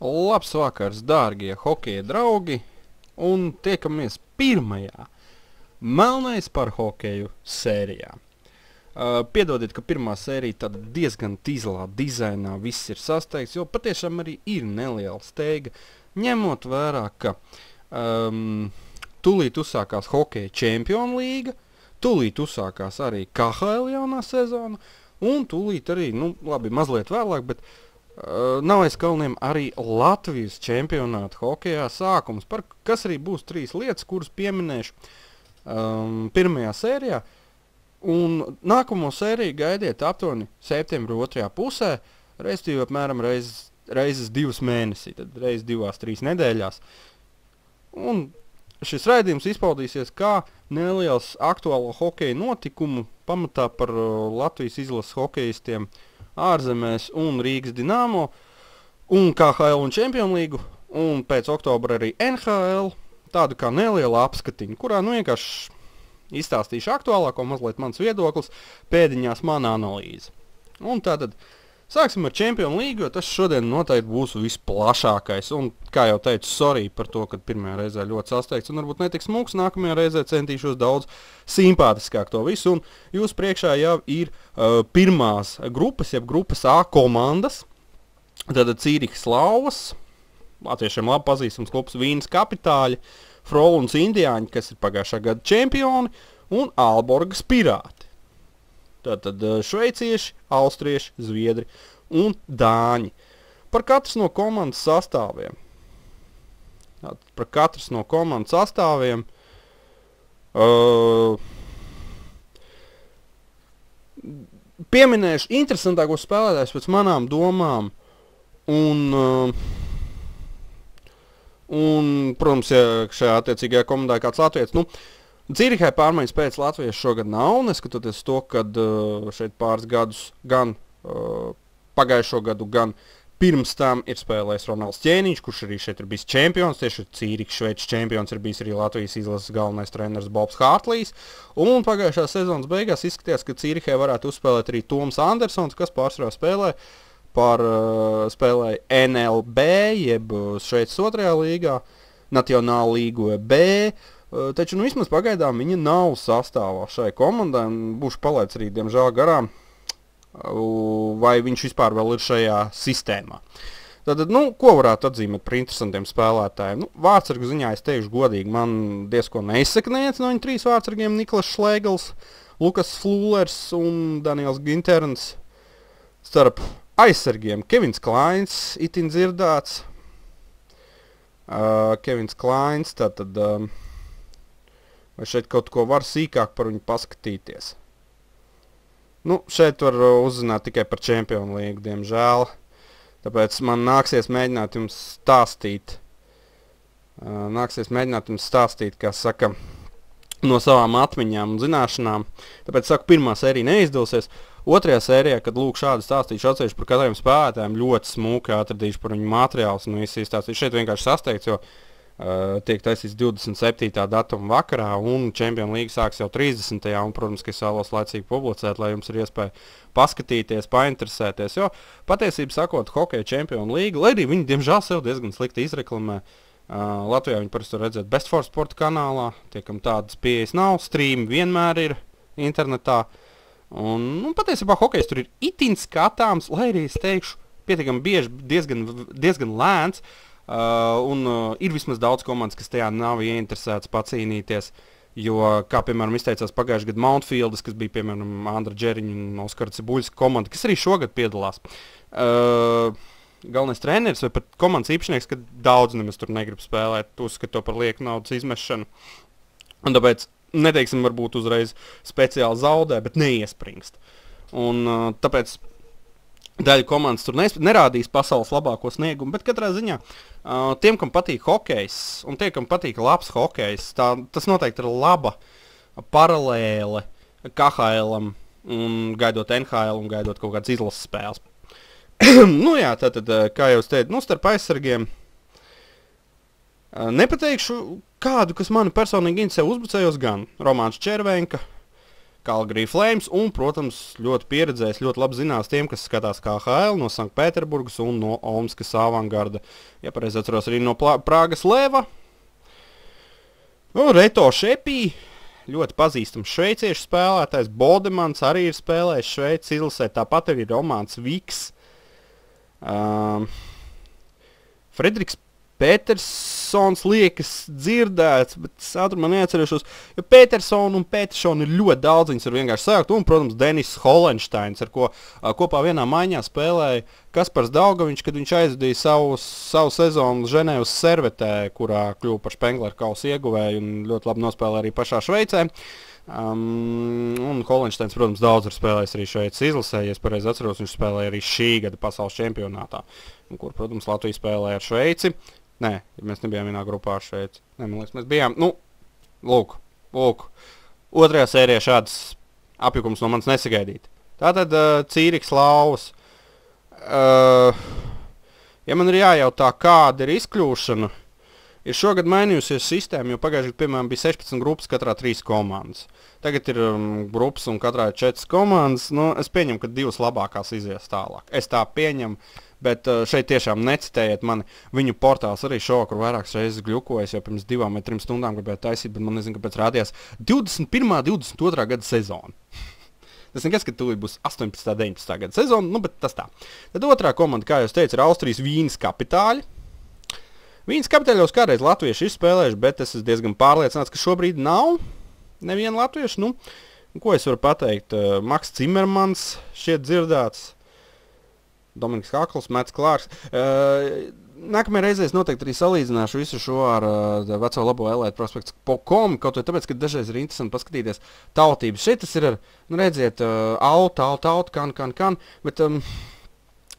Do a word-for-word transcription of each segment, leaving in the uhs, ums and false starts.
Labs vakars, dārgie hokeja draugi, un tiekamies pirmajā Melnais par hokeju sērijā. Uh, piedodiet, ka pirmā sērija tad diezgan tīzlā dizainā viss ir sasteigts, jo patiešām arī ir neliela steiga, ņemot vērā, ka um, tūlīt uzsākās hokeja Čempionu līga, tūlīt uzsākās arī K H L jaunā sezona, un tūlīt arī, nu labi, mazliet vēlāk, bet uh, nav aiz kalniem arī Latvijas čempionāta hokejā sākums, par kas arī būs trīs lietas, kuras pieminēšu um, pirmajā sērijā. Un nākamo sēriju gaidiet aptuveni septembra otrajā pusē, reizes apmēram reizes, reizes divas mēnesī, tad reizes divās, trīs nedēļās. Un šis raidījums izpaudīsies kā neliels aktuālo hokeja notikumu pamatā par uh, Latvijas izlases hokejistiem ārzemēs un Rīgas Dinamo un K H L un Čempionu līgu, un pēc oktobra arī N H L, tādu kā neliela apskatiņa, kurā nu vienkārši izstāstīšu aktuālāko, mazliet mans viedoklis, pēdiņās mana analīze. Un tātad sāksim ar Čempionu līgu, jo tas šodien noteikti būs visplašākais. Un, kā jau teicu, sorry par to, ka pirmajā reizē ļoti sasteigts un varbūt netiks smūgs, nākamajā reizē centīšos daudz simpātiskāk to visu. Un jūs priekšā jau ir uh, pirmās grupas, jeb grupas A komandas. Tātad Cīrihas Lauvas, latviešiem labi pazīstams klubs Vīnas Kapitāļi, Froluns Indiāņi, kas ir pagājušā gada čempioni, un Aalborgas Pirāti. Tātad šveicieši, austrieši, zviedri un dāņi. Par katras no komandas sastāviem. Tātad par katras no komandas sastāviem. Uh, pieminēšu interesantākos spēlētājus pēc manām domām. Un... Uh, Un, protams, ja šajā attiecīgajā komandā ir kāds latvietis, nu, Cīrihai pārmaiņas pēc latviešu šogad nav, neskatoties to, kad uh, šeit pāris gadus gan uh, pagājušo gadu, gan pirms tam ir spēlējis Ronalds Ķēniņš, kurš arī šeit ir bijis čempions, tieši Cīrihas šveicis čempions ir bijis arī Latvijas izlases galvenais treneris Bobs Hārtlīs, un pagājušā sezonas beigās izskatījās, ka Cīrihai varētu uzspēlēt arī Toms Andersons, kas pārsvarā spēlē par uh, spēlēja N L B, jeb Šveices otrajā līgā, Nacionāla līga B, uh, taču nu vismaz pagaidām viņa nav sastāvā šai komandai, un būšu palaids arī, diemžēl, garām, uh, vai viņš vispār vēl ir šajā sistēmā. Tātad, nu, ko varētu atzīmēt par interesantiem spēlētājiem? Nu, vārtsargu ziņā es teikšu godīgi, man diezko neizsaka neviens no viņu trīs vārtsargiem, Niklas Šlēgls, Lukas Flūlers un Daniels Ginterns. Starp aizsargiem Kevins Klains, itin dzirdāts. Uh, Kevins Klains, tātad, um, vai šeit kaut ko var sīkāk par viņu paskatīties? Nu, šeit var uh, uzzināt tikai par Čempionu līgu, diemžēl. Tāpēc man nāksies mēģināt jums stāstīt, uh, nāksies mēģināt jums stāstīt, kā saka, no savām atmiņām un zināšanām. Tāpēc, saku, pirmā sērija neizdosies. Otrajā sērijā, kad lūk šādi stāstīšu atsevišķi par katriem spēlētājiem, ļoti smuki atradīšu par viņu materiālus un visu izstāstīšu. Šeit vienkārši sasteigts, jo uh, tiek taisīts divdesmit septītā datuma vakarā un Čempionu līga sāks jau trīsdesmitajā un, protams, ka es vēlos laicīgi publicēt, lai jums ir iespēja paskatīties, painteresēties, jo patiesībā sakot, hokeja Čempionu līga, lai arī viņi, diemžēl, sev diezgan slikti izreklamē. Uh, Latvijā viņi parasti var redzēt Best for Sport kanālā, tiekam tādas pieejas nav, streami vienmēr ir internetā. Un, nu, patiesībā hokejs tur ir itin skatāms, lai arī es teikšu, pietiekami bieži, diezgan, diezgan lēns, uh, un uh, ir vismaz daudz komandas, kas tajā nav ieinteresēts pacīnīties, jo, kā piemēram izteicās pagājušajā gadu Mountfieldas, kas bija piemēram Andra Džeriņa un Oskara Cibuļas komanda, kas arī šogad piedalās. Uh, galvenais treneris vai pat komandas īpašnieks, ka daudz nemaz tur negrib spēlēt, uzskat to par lieku naudas izmešanu. Un tāpēc neteiksim, varbūt uzreiz speciāli zaudē, bet neiespringst. Un uh, tāpēc daļa komandas tur nes- nerādīs pasaules labāko sniegumu, bet katrā ziņā uh, tiem, kam patīk hokejs, un tiem, kam patīk labs hokejs, tā, tas noteikti ir laba paralēle K H L-am, un gaidot N H L un gaidot kaut kādas izlases spēles. Nu jā, tātad, kā jau es teicu, nu starp aizsargiem, uh, nepateikšu kādu, kas mani personīgi interesē, uzbucējos gan Romāns Červenka, Calgary Flames un, protams, ļoti pieredzējis, ļoti labi zinās tiem, kas skatās K H L no Sanktpēterburgas un no Omskas Avangarda. Ja pareizi atceros arī no Plā Prāgas Leva. Nu, Reto Šepī, ļoti pazīstams šveiciešu spēlētājs. Bodemans arī ir spēlējis Šveices izlasē, tāpat arī Romāns Viks. Um, Frederiks Petersons liekas dzirdēts, bet es ātrumā neatcerēšos, jo Petersonu un Petersonu ir ļoti daudz, viņas ir vienkārši sākt, un, protams, Denis Holensteins, ar ko a, kopā vienā maiņā spēlēja Kaspars Daugaviņš, kad viņš aizvadīja savu, savu sezonu Ženēvas Servetē, kurā kļuva par Spengler kausa ieguvēju un ļoti labi nospēlēja arī pašā Šveicē. Um, un Holensteins, protams, daudz ir spēlējis arī Šveices izlasē, ja es pareizi atceros, viņš spēlēja arī šī gada pasaules čempionātā, un kur, protams, Latvija spēlēja ar Šveici. Nē, mēs nebijām vienā grupā ar Šveici. Nē, man liekas, mēs bijām, nu, lūk, lūk. Otrajā sērijā šāds apjukums no manis nesagaidīt. Tātad uh, Cīriks Lauvas. Uh, ja man ir jājautā, kāda ir izkļūšana, ir šogad mainījusies sistēma, jo pagājušajā, piemēram, bija sešpadsmit grupas, katrā trīs komandas. Tagad ir um, grupas un katrā ir četras komandas. Nu, es pieņemu, ka divas labākās izies tālāk. Es tā pieņemu, bet uh, šeit tiešām necitējiet mani. Viņu portāls arī šovakar vairākas reizes gļukojas, jau pirms divām vai trim stundām gribēju taisīt, bet man nezinu, kāpēc rādījās divdesmit pirmā, divdesmit otrā gada sezona. Tas nekas, ka tūlīt būs astoņpadsmitā, deviņpadsmitā gada sezona, nu, bet tas tā. Tad otrā komanda, kā jau es teicu, ir Austrijas Vīnes Kapitāļi. Vīnes Kapitāļos kādreiz latvieši ir spēlējuši, bet es esmu diezgan pārliecināts, ka šobrīd nav neviena latvieša. Nu, ko es varu pateikt? Uh, Maks Cimermans šķiet dzirdēts, Dominiks Hakls, Mets Klārks. Uh, Nākamajā reizē es noteikti arī salīdzināšu visu šo ar uh, veco labo Elite Prospects punkt com, kaut vai tāpēc, ka dažreiz ir interesanti paskatīties tautības. Šeit tas ir ar, nu redziet, uh, auta, auta, auta, kan, kan, kan, bet um,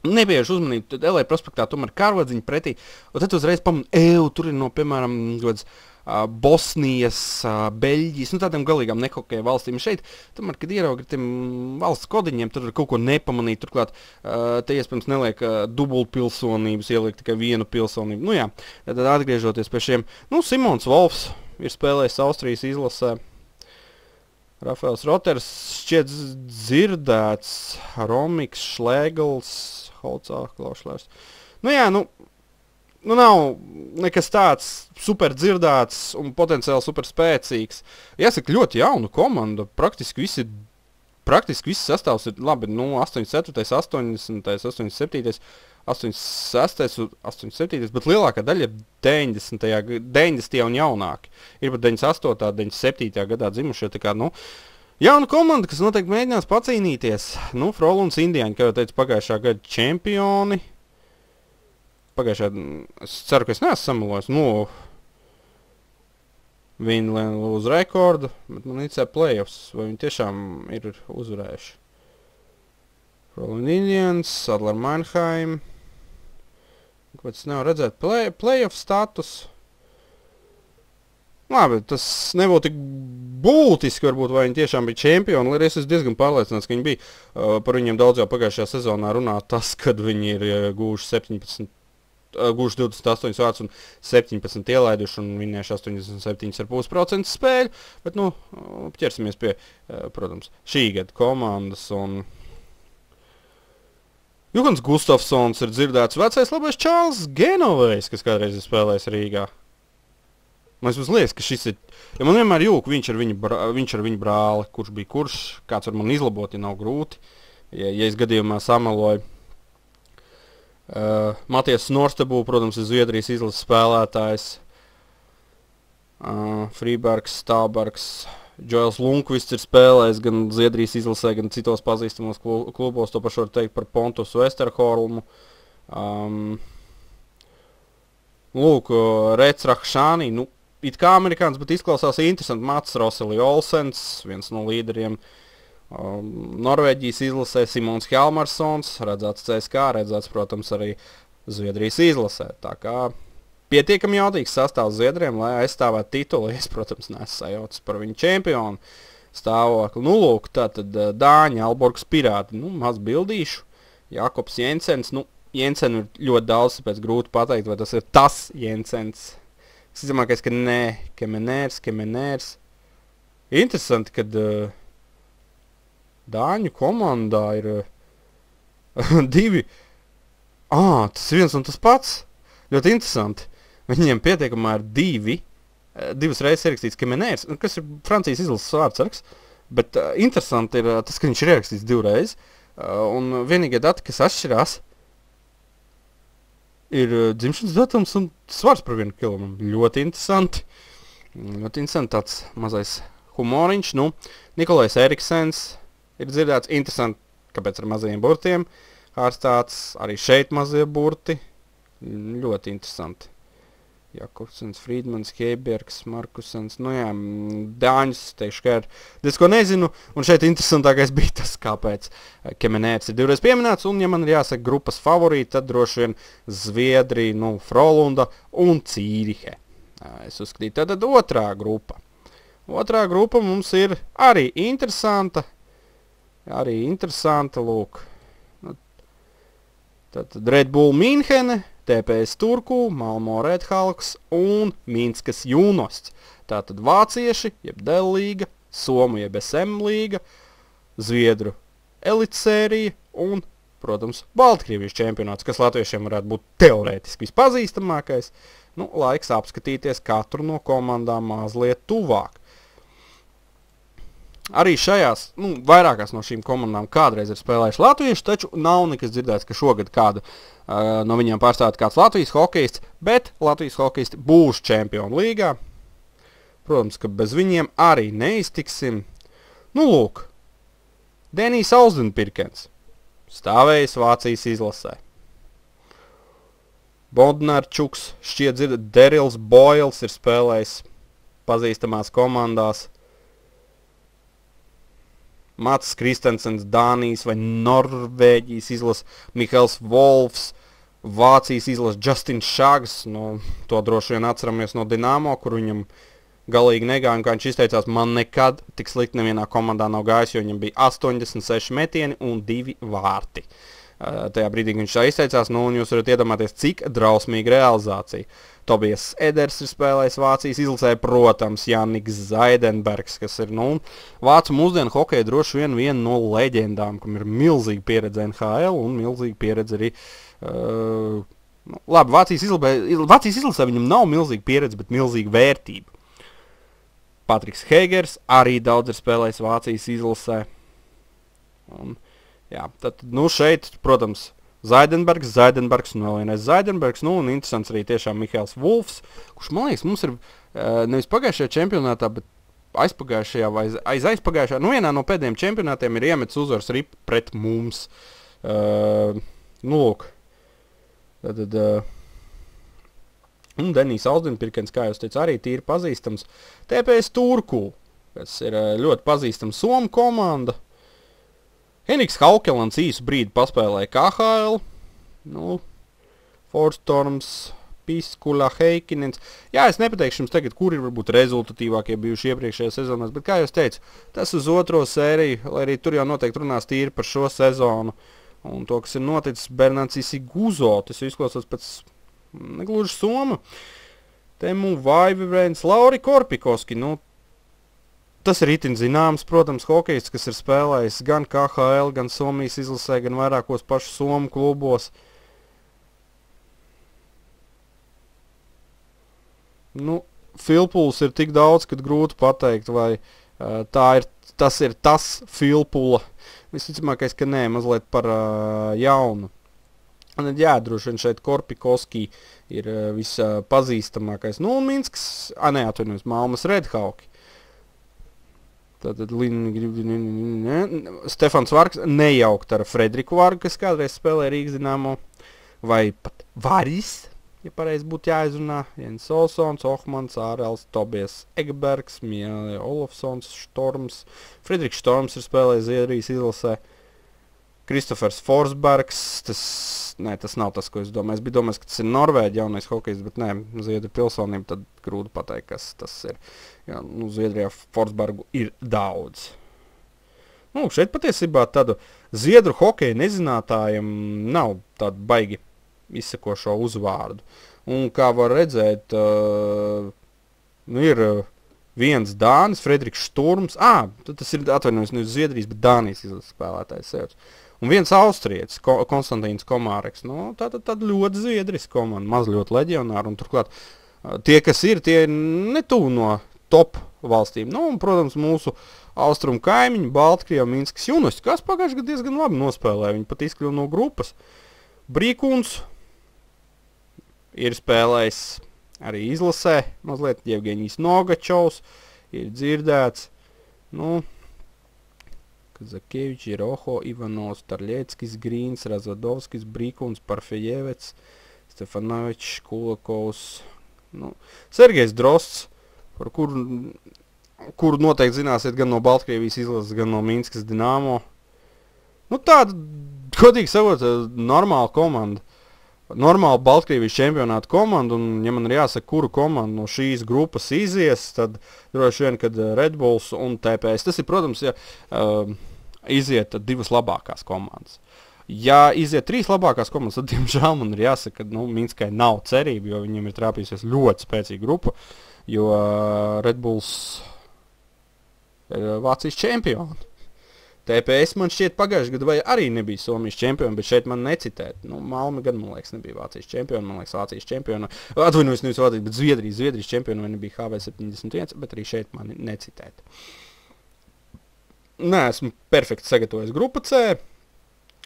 nebieži uzmanību, tad Elite Prospektā tomēr karvadziņi pretī, un tad uzreiz pamanu, eju, tur ir no, piemēram, gods, uh, Bosnijas, uh, Beļģijas, nu tādiem galīgām nehokeja valstīm. Šeit, tomēr, kad ieraugi tiem valsts kodiņiem, tur ir kaut ko nepamanīt, turklāt uh, te iespējams neliek uh, dubultpilsonības, ieliek tikai vienu pilsonību. Nu jā, tad atgriežoties pie šiem, nu Simons Wolfs ir spēlējis Austrijas izlasē. Rafaels Roters šķiet dzirdēts, Romiks, Šlēgls, Holcā, Klaušlērs. Nu jā, nu, nu nav nekas tāds super dzirdēts un potenciāli super spēcīgs. Jāsaka, ļoti jauna komanda, praktiski visi, praktiski visi sastāvs ir labi, nu, astoņdesmit ceturtais, astoņdesmitais, astoņdesmit septītais, astoņdesmit sestais, astoņdesmit septītais, bet lielākā daļa ir deviņdesmitajā un jaunāki. Ir pat deviņdesmit astotā, deviņdesmit septītajā gadā dzimušie, tā kā, nu, jauna komanda, kas noteikti mēģinās pacīnīties. Nu, Froluns Indiāņi, kā jau teicu, pagājušā gada čempioni. Pagājušā, es ceru, ka es neesmu samalojis. Nu, viņi uz rekordu, bet man nicē playoffs, vai viņi tiešām ir uzvarējuši. Frolun Indians, Adler Mannheim. Kāpēc es nevaru redzēt play, playoff status? Labi, tas nebūtu tik būtiski, varbūt, vai viņi tiešām bija čempioni, lai es esmu diezgan pārliecināts, ka viņi bija. Uh, par viņiem daudz jau pagājušajā sezonā runā tas, kad viņi ir uh, gūši septiņpadsmit, uh, gūši divdesmit astoņas vārtus un septiņpadsmit ielaiduši un vinnējuši astoņdesmit septiņi komats pieci procenti spēļu, bet, nu, ķersimies pie, uh, protams, šī gada komandas un Juhans Gustafsons ir dzirdēts vecais labais Čārls Genovejs, kas kādreiz ir spēlējis Rīgā. Man liekas, ka šis ir, ja man vienmēr jūk, viņš ar viņu, brā, viņš ar viņu brāli, kurš bija kurš, kāds var man izlabot, ja nav grūti, ja, ja es gadījumā samaloju. Uh, Matijas Norstebū, protams, ir Zviedrijas izlases spēlētājs. Uh, Frībergs, Stābergs, Džoels Lunkvists ir spēlējis gan Zviedrijas izlasē, gan citos pazīstamos klubos, to pašu var teikt par Pontus Westerholmu. Um, lūk, Rets Rahšānī, nu, it kā amerikāns, bet izklausās interesanti. Mats Roseli Olsens, viens no līderiem. Um, Norvēģijas izlasē Simons Hjalmarsons, redzēts C S K, redzēts, protams, arī Zviedrijas izlasē. Tā kā pietiekami jaudīgs sastāvs Zviedriem, lai aizstāvētu titulu. Es, protams, neesmu sajaucis par viņu čempionu stāvokli. Nu, lūk, tātad Dāņi, Alborgs Pirāti, nu, maz bildīšu. Jakobs Jensens, nu, Jensenu ir ļoti daudz, tāpēc grūti pateikt, vai tas ir tas Jensens. Es izdomāju, ka nē, Kemenērs, Kemenērs. Interesanti, kad uh, Dāņu komandā ir uh, divi. Ā, tas ir viens un tas pats. Ļoti interesanti. Viņiem pieteikumā ir divi. Uh, divas reizes ierakstīts Kemenērs, kas ir Francijas izlases vārdsargs. Bet uh, interesanti ir uh, tas, ka viņš ir ierakstīts divreiz. Uh, un vienīgie dati, kas atšķirās, ir uh, dzimšanas datums un svars par vienu kilogramu. Ļoti interesanti. Ļoti interesanti tāds mazais humoriņš. Nu, Nikolais Eriksens ir dzirdēts. Interesanti, kāpēc ar mazajiem burtiem. Ārstāts arī šeit mazie burti. Ļoti interesanti. Jakobsens, Friedmans, Heibergs, Markusens. Nu jā, Dāņus, teikšu, ka ir diezko nezinu. Un šeit interesantākais bija tas, kāpēc Kemenērs ir divreiz pieminēts. Un, ja man ir jāsaka grupas favorīti, tad droši vien Zviedrija, nu, Frolunda un Cīrihe. Es uzskatīju, tātad otrā grupa. Otrā grupa mums ir arī interesanta. Arī interesanta, lūk. Tātad Red Bull Mīnhene, T P S Turku, Malmo Redhawks un Minskas Junosts. Tātad vācieši, jeb D līga, Somu, jeb S M līga, Zviedru elitsērija un, protams, Baltkrievijas čempionāts, kas latviešiem varētu būt teorētiski vispazīstamākais. Nu, laiks apskatīties katru no komandām mazliet tuvāk. Arī šajās, nu, vairākās no šīm komandām kādreiz ir spēlējuši latvieši, taču nav nekas dzirdēts, ka šogad kādu uh, no viņiem pārstāvēt kāds Latvijas hokejists, bet Latvijas hokejisti būs čempionu līgā. Protams, ka bez viņiem arī neiztiksim. Nu, lūk, Denijs Auzenpirkens, stāvējis Vācijas izlasē. Bodnarčuks, šķiet dzirdat, Derils Boils ir spēlējis pazīstamās komandās. Mats Kristensens, Dānijas vai Norvēģijas izlas, Mihails Wolfs, Vācijas izlas Justins Šags, no, to droši vien atceramies no Dinamo, kur viņam galīgi negāja, un kā viņš izteicās, man nekad tik slikti nevienā komandā nav gājis, jo viņam bija astoņdesmit seši metieni un divi vārti. Uh, tajā brīdī, kad viņš tā izteicās, nu, un jūs varat iedomāties, cik drausmīga realizācija. Tobias Eders ir spēlējis Vācijas izlasē, protams, Jāniks Zaidenbergs, kas ir, nu, vācu mūsdienu hokeja droši vien viena no leģendām, kam ir milzīga pieredze N H L un milzīga pieredze arī, uh, nu, labi, Vācijas izlasē, Vācijas izlasē viņam nav milzīga pieredze, bet milzīga vērtība. Patriks Heigers arī daudz ir spēlējis Vācijas izlasē. Un, jā, tad, nu, šeit, protams, Zaidenbergs, Zaidenbergs un vēl vienais Zaidenbergs, nu, un interesants arī tiešām Mihails Wolfs, kurš, man liekas, mums ir uh, nevis pagājušajā čempionātā, bet aizpagājušajā vai aiz aizpagājušajā, nu, vienā no pēdējiem čempionātiem ir iemetis uzvars arī pret mums. Uh, nu, lūk. Tad, tad, uh, un Denijs Auzenpirkens, kā jūs teicu, arī tīri pazīstams. T P S Turku, kas ir uh, ļoti pazīstama Somu komanda. Henriks Haukelans īsu brīdi paspēlēja K H L, nu, Forstorms, Piskula, Heikinens. Jā, es nepateikšu jums tagad, kur ir varbūt rezultatīvākie bijuši iepriekšējā sezonās, bet kā jūs teicu, tas uz otro sēriju, lai arī tur jau noteikti runās tīri par šo sezonu. Un to, kas ir noticis, Bernācis Iguzo, tas izklausās pēc negluži Soma. Temu Vaivivens, Lauri Korpikoski, nu, tas ir itin zināms, protams, hokejists, kas ir spēlējis gan K H L, gan Somijas izlasē, gan vairākos pašu Somu klubos. Nu, Filpuls ir tik daudz, kad grūti pateikt, vai uh, tā ir, tas ir tas Filpula. Visticamākais, ka nē, mazliet par uh, jaunu. Un, jā, droši vien šeit Korpikoski ir uh, vispazīstamākais. Nu, un Minskas, a, ne, atvainojos, Malmas Redhawki. Tātad Stefans Vargs nejaukt ar Frederiku Vargu, kas kādreiz spēlēja Rīgas Dinamo, vai pat Varis, ja pareizi būtu jāizrunā, Jens Olsons, Ohmans, Ārels, Tobias Egbergs, Miele Olofsons, Štorms, Frederiks Štorms ir spēlējis Zviedrijas izlasē, Kristofers Forsbergs, tas, nē, tas nav tas, ko es domāju. Es biju domājis, ka tas ir Norvēģi jaunais hokejs, bet nē, Zviedru pilsonība, tad grūti pateikt, kas tas ir. Jā, nu, Zviedrijā Forsbergu ir daudz. Nu, šeit patiesībā tādu Zviedru hokeja nezinātājiem nav tādu baigi izsakošo uzvārdu. Un kā var redzēt, uh, nu, ir uh, viens Dānis, Frederiks Šturms, ā, tas ir atvainojums ne uz Zviedrijas, bet Dānijas izlases spēlētājs sev. Un viens austrietis, Ko, Konstantīns Komāreks, nu, tā tad ļoti zviedriska komanda, maz ļoti leģionāri, un turklāt tie, kas ir, tie ir netuvu no top valstīm. Nu, un, protams, mūsu austrumu kaimiņi, Baltkrieva, Minskas Junosti, kas pagājuši gadu diezgan labi nospēlēja, viņi pat izkļuva no grupas. Brīkuns ir spēlējis arī izlasē, mazliet Jevgeņijs Nogačovs, ir dzirdēts, nu, Zakevičs, Roho, Ivanovs, Tarļeckis, Grīns, Razvadovskis, Brīkuns, Parfejevets, Stefanovičs, Kulakovs, nu, Sergejs Drosts, par kuru, kuru noteikti zināsiet gan no Baltkrievijas izlases, gan no Minskas Dinamo. Nu, tāda, godīgi sakot, normāla komanda. Normāla Baltkrievijas čempionāta komanda, un, ja man ir jāsaka, kuru komandu no šīs grupas izies, tad droši vien, kad Red Bulls un T P S. Tas ir, protams, ja uh, iziet divas labākās komandas. Ja iziet trīs labākās komandas, tad, diemžēl, man ir jāsaka, ka nu, Minskai nav cerība, jo viņiem ir trāpījusies ļoti spēcīga grupa, jo uh, Red Bulls ir Vācijas čempioni. T P S man šķiet pagājuši gadu vai arī nebija Somijas čempioni, bet šeit man necitēt. Nu, Malme gan, man liekas, nebija Vācijas čempioni, man liekas, Vācijas čempioni. Atvainojos, nevis Vācijas, bet Zviedrijas, Zviedrijas čempioni vai nebija H V septiņdesmit viens, bet arī šeit mani necitēt. Nē, esmu perfekti sagatavojis grupa C.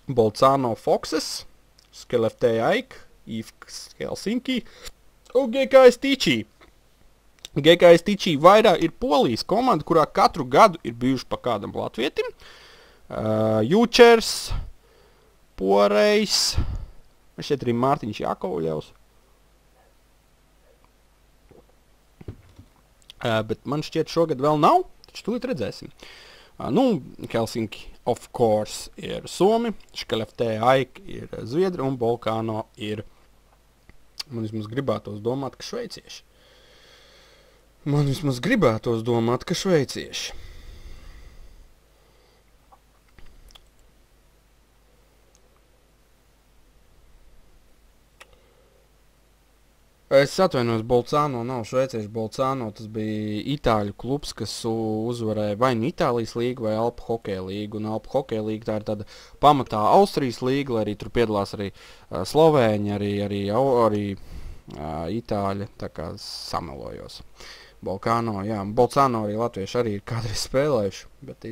Bolcano Foxes, Skellefteå AIK, I F K Helsinki un G K S Tichy. G K S Tichy vairāk ir Polijas komanda, kurā katru gadu ir bijuši pa kādam latvietim. Uh, Jučers, Porejs, šeit arī Mārtiņš Jakovļevs. Uh, bet man šķiet šogad vēl nav, taču tūlīt redzēsim. Uh, nu, Helsinki, of course, ir Somi, Skellefteå AIK ir Zviedri un Bolcano ir, man vismaz gribētos domāt, ka šveicieši. Man vismaz gribētos domāt, ka šveicieši. Es atvainojos, Bolcano nav šveicieši, Bolcano tas bija itāļu klubs, kas uzvarēja vai nu Itālijas līgu vai Alpu hokeja līgu. Un Alpu hokeja līga tā ir tāda pamatā Austrijas līga, lai arī tur piedalās arī uh, Slovēņi, arī, arī, arī uh, itāļi, tā kā samelojos. Bolcano, jā, Bolcano arī latvieši arī ir kādreiz spēlējuši, bet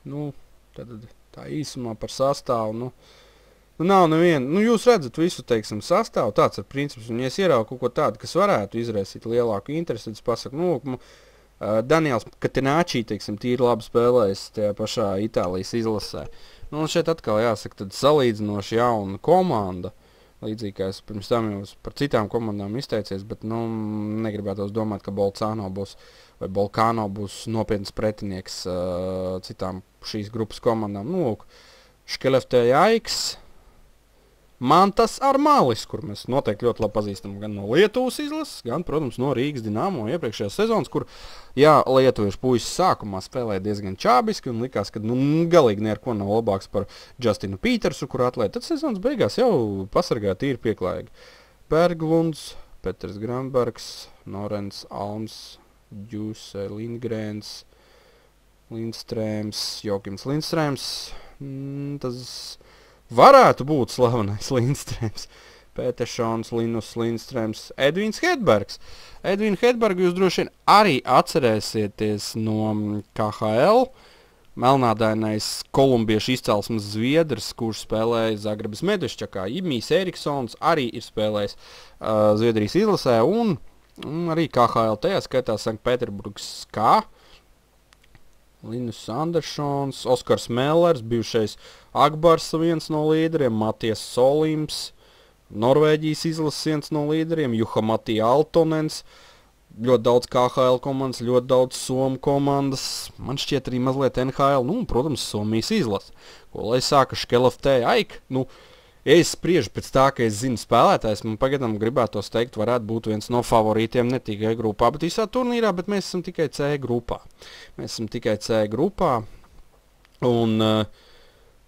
nu, tad tā īsumā par sastāvu, nu, nu nav neviena, nu jūs redzat visu, teiksim, sastāvu, tāds ir princips, un ja es ieraugu kaut ko tādu, kas varētu izraisīt lielāku interesi, tad es pasaku, nu, uh, Daniels Katināčī, teiksim, tīri labi spēlējis tajā pašā Itālijas izlasē. Nu, un šeit atkal jāsaka, tad salīdzinoši jauna komanda, līdzīgi kā es pirms tam jau par citām komandām izteicies, bet, nu, negribētos domāt, ka Bolcano būs, vai Bolcano būs nopietns pretinieks uh, citām šīs grupas komandām. Nu, lūk, Skellefteå AIK, Mantas Armalis, kur mēs noteikti ļoti labi pazīstam gan no Lietuvas izlases, gan, protams, no Rīgas Dinamo iepriekšējās sezonas, kur, jā, lietuviešu puisis sākumā spēlēja diezgan čābiski un likās, ka, nu, galīgi neko nav labāks par Justinu Pītersu, kur atlēt. Tad sezonas beigās jau pasargāja tīri pieklājīgi. Berglunds, Peters Granbergs, Norens Alms, Džuse Lindgrēns, Lindstrēms, Jokims Lindstrēms, mm, tas varētu būt slavenais Lindstrēms, Peteršons, Linus Lindstrēms, Edvins Hedbergs. Edvinu Hedbergu jūs droši vien arī atcerēsieties no K H L. Melnādainais kolumbiešu izcelsmes zviedrs, kurš spēlēja Zagrebas Medveščakā. Imijs Eriksons arī ir spēlējis uh, Zviedrijas izlasē un, un arī K H L tajā skaitā Sanktpēterburgas K. Linus Andersons, Oskars Mellers, bijušais Akbars viens no līderiem, Matijas Solims, Norvēģijas izlases viens no līderiem, Juha Matija Altonens, ļoti daudz K H L komandas, ļoti daudz Somu komandas, man šķiet arī mazliet N H L, nu, un, protams, Somijas izlase. Ko lai sāka Skellefteå AIK, nu, ja es spriežu pēc tā, ka es zinu spēlētājs, man pagadam gribētos teikt, varētu būt viens no favorītiem ne tikai grupā, bet visā turnīrā, bet mēs esam tikai C grupā. Mēs esam tikai C grupā, un uh,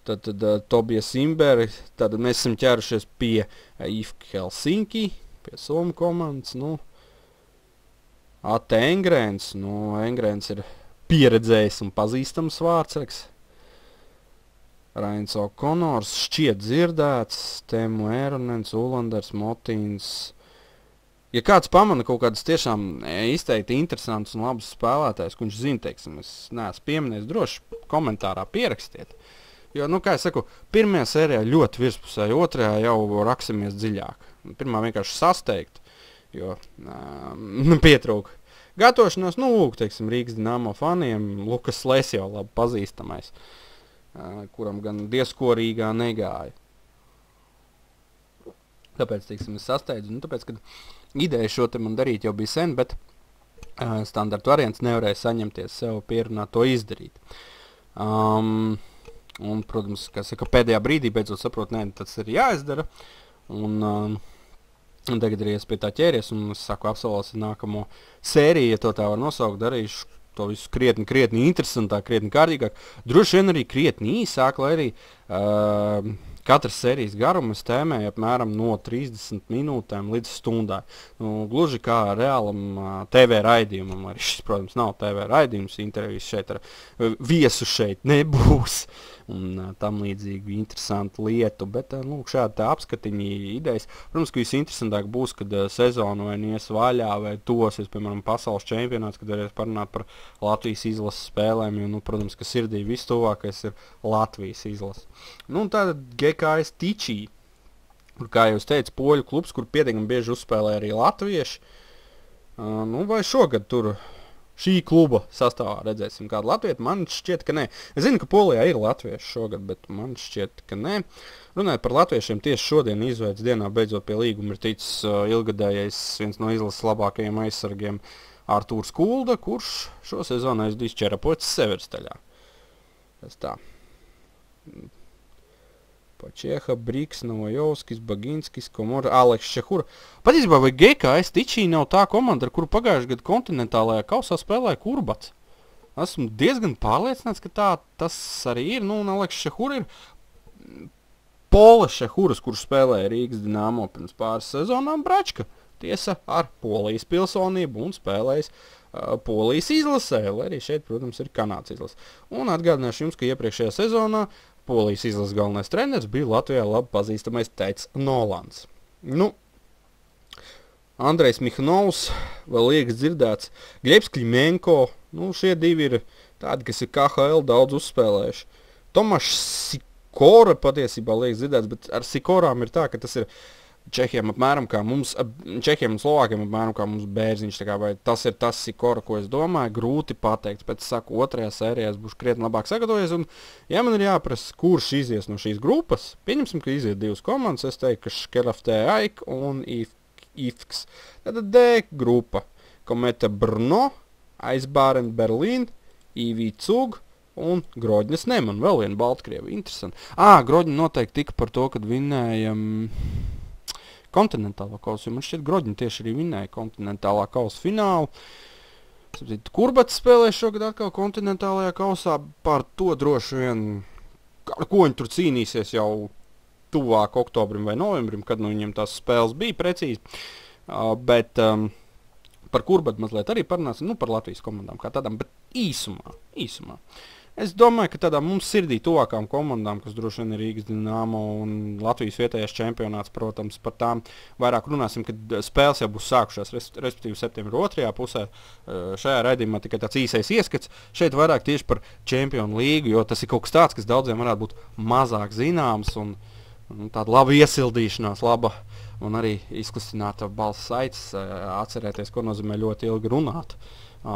tad, tad uh, Tobias Imberi, tad mēs esam ķērušies pie uh, I F K Helsinki, pie Somu komandas, nu, Ate Engrēns, nu, Engrēns ir pieredzējis un pazīstams vārdsargs. Rains O'Connors šķiet dzirdēts, Temu Ēronens, Ulanders, Motīns. Ja kāds pamana kaut kādas tiešām izteikti interesantas un labas spēlētājs, ko viņš zina, teiksim, es neesmu pieminējis, droši komentārā pierakstiet. Jo, nu, kā es saku, pirmajā sērijā ļoti virspusēji, otrajā jau raksimies dziļāk. Pirmā vienkārši sasteigt, jo um, pietrūka gatavošanās, nu, lūk, teiksim, Rīgas Dinamo faniem, Lukas Slēs jau labi pazīstamais, uh, kuram gan diezkorīgā negāja. Tāpēc, teiksim, es sasteidzu, nu, tāpēc, kad ideja šo te man darīt jau bija sen, bet uh, standarta variants nevarēja saņemties sev pierunāt to izdarīt. Um, un, protams, kā saka, pēdējā brīdī beidzot saprot, nē, tas ir jāizdara, un, um, un tagad ir ies pie tā ķēries, un es saku, apsolāsi nākamo sēriju, ja to tā var nosaukt, darīšu to visu krietni, krietni interesantāk, krietni kārtīgāk, droši vien arī krietni īsāk, lai arī uh, katras sērijas garuma es tēmēju apmēram no trīsdesmit minūtēm līdz stundai. Nu, gluži kā reālam uh, T V raidījumam, arī šis, protams, nav T V raidījums, intervijas šeit ar uh, viesu šeit nebūs un uh, tam līdzīgi interesantu lietu, bet, uh, lūk, šādi tā apskatiņi idejas. Protams, ka visinteresantāk būs, kad uh, sezonu vai nies vaļā vai tosies, piemēram, pasaules čempionāts, kad varēs parunāt par Latvijas izlases spēlēm, jo, nu, protams, ka sirdī vistuvākais ir Latvijas izlase. Nu, un tātad G K S Tičī, kur, kā jūs teicu, poļu klubs, kur pietiekami bieži uzspēlē arī latvieši. Uh, nu, vai šogad tur šī kluba sastāvā redzēsim kādu latvietu? Man šķiet, ka nē. Es zinu, ka Polijā ir latvieši šogad, bet man šķiet, ka nē. Runājot par latviešiem, tieši šodien izveids dienā beidzot pie līguma ir ticis uh, ilgadējais viens no izlases labākajiem aizsargiem Artūrs Kulda, kurš šo sezonu aizdīs Čerapots Severstaļā. Tas tā. Pačieha, Briks, Novojovskis, Baginskis, Komora, Aleks Šehura. Patiesībā, vai G K S Tičī nav tā komanda, ar kuru pagājušajā gadu kontinentālajā kausā spēlēja Kurbats? Esmu diezgan pārliecināts, ka tā tas arī ir. Nu, un Aleks Šehura ir Pola Šehuras, kurš spēlēja Rīgas Dinamo pirms pāris sezonām Bračka. Tiesa ar Polijas pilsonību un spēlējis uh, Polijas izlasē, lai arī šeit, protams, ir Kanādas izlase. Un atgādināšu jums, ka iepriekšējā sezonā Polijas izlases galvenais treneris bija Latvijā labi pazīstamais Teits Nolans. Nu, Andrejs Mihnovs, vēl liekas dzirdēts, Gļebs Klimenko, nu, šie divi ir tādi, kas ir K H L daudz uzspēlējuši. Tomašs Sikora patiesībā liekas dzirdēts, bet ar Sikorām ir tā, ka tas ir Čehiem apmēram kā mums, Čehiem un Slovākiem apmēram kā mums bērziņš, tā kā vai tas ir tas Sikora, ko es domāju, grūti pateikt, pēc saku, otrajā sērijā es būšu krietni labāk sagatavojies, un ja man ir jāprasa, kurš izies no šīs grupas, pieņemsim, ka iziet divas komandas, es teiktu, ka Škelaftē Aik un Ifks. Tātad D grupa, Kometa Brno, Aizbāren Berlīn, I V Cug un Grodņas Neman, vēl viena Baltkrievi, interesanti. Ā, Grodņa noteikti tika par to, kad vinējam kontinentālā kausa, jo man šķiet Grodņa tieši arī vinēja kontinentālā kausa finālu. Kurbats spēlē šogad atkal kontinentālajā kausā, par to droši vien, ar ko viņi tur cīnīsies jau tuvāk oktobrim vai novembrim, kad nu viņiem tās spēles bija precīzi. Uh, bet um, par Kurbatu mazliet arī parunāsim, nu par Latvijas komandām kā tādām, bet īsumā, īsumā. Es domāju, ka tādām mums sirdī tuvākām komandām, kas droši vien ir Rīgas Dinamo un Latvijas vietējais čempionāts, protams, par tām vairāk runāsim, kad spēles jau būs sākušās, respektīvi septembra otrajā pusē. Šajā raidījumā tikai tāds īsais ieskats. Šeit vairāk tieši par Čempionu līgu, jo tas ir kaut kas tāds, kas daudziem varētu būt mazāk zināms un, un tāda laba iesildīšanās, laba un arī izklistināta balss saites, atcerēties, ko nozīmē ļoti ilgi runāt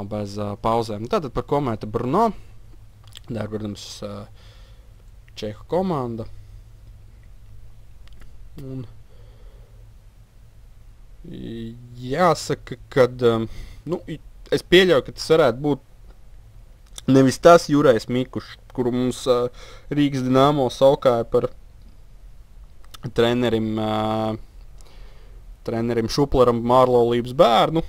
bez pauzēm. Tātad par Kometa Brno. Tā ir, protams, Čehu komanda. Un jāsaka, kad, nu, es pieļauju, ka tas varētu būt nevis tas Jurais Mikušs, kuru mums Rīgas Dinamo saukāja par trenerim, trenerim Šuplaram Mārlaulības bērnu.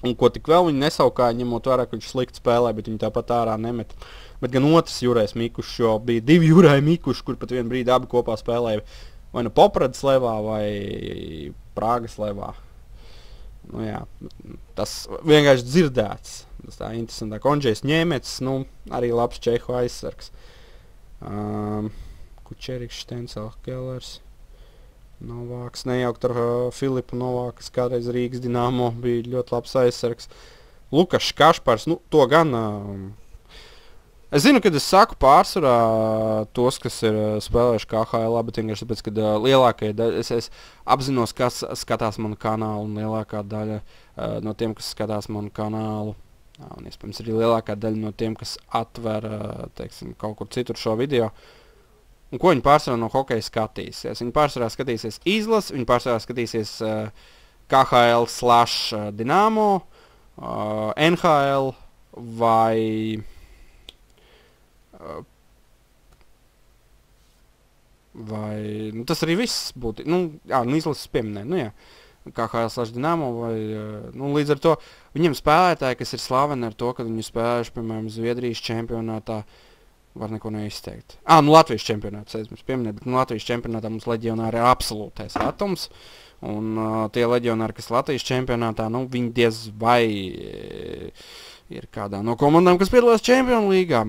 Un ko tik vēl viņi nesaukāja, ņemot vērā, ka viņš slikti spēlē, bet viņi tāpat ārā nemet. Bet gan otrs Jurais Mikušs, jo bija divi Jurai Mikuši, kur pat vienu brīdi abi kopā spēlēja vai nu Popradas levā vai Prāgas levā. Nu, jā, tas vienkārši dzirdēts. Tas tā interesantāk. Ondžejs Ņēmecis, nu, arī labs čehu aizsargs. Um, Kučeriks, Štensel, Kellers, Novāks. Nejaukt ar uh, Filipu Novāku, kas kādreiz Rīgas Dinamo bija ļoti labs aizsargs. Lukašs Kašpars, nu, to gan... Uh, Es zinu, kad es saku pārsvarā tos, kas ir uh, spēlējuši K H L, bet vienkārši tāpēc, ka uh, lielākajai daļai es, es apzinos, kas skatās manu kanālu, un lielākā daļa uh, no tiem, kas skatās manu kanālu, uh, un iespējams arī lielākā daļa no tiem, kas atver, uh, teiksim, kaut kur citur šo video, un ko viņi pārsvarā no hokeja skatīsies. Viņi pārsvarā skatīsies izlas, viņi pārsvarā skatīsies uh, K H L slash uh, Dinamo, uh, N H L vai... vai, nu tas arī viss būtu, nu, jā, nu izlases pieminē, nu jā, K H L slash Dinamo vai, nu līdz ar to viņiem spēlētāji, kas ir slaveni ar to, ka viņi spēlējuši, piemēram, Zviedrijas čempionātā, var neko neizteikt. Ā, nu Latvijas čempionāts, es mums pieminēt, bet nu Latvijas čempionātā mums leģionāri ir absolūtais atoms, un uh, tie leģionāri, kas Latvijas čempionātā, nu viņi diez vai e, ir kādā no komandām, kas piedalās Čempionu līgā.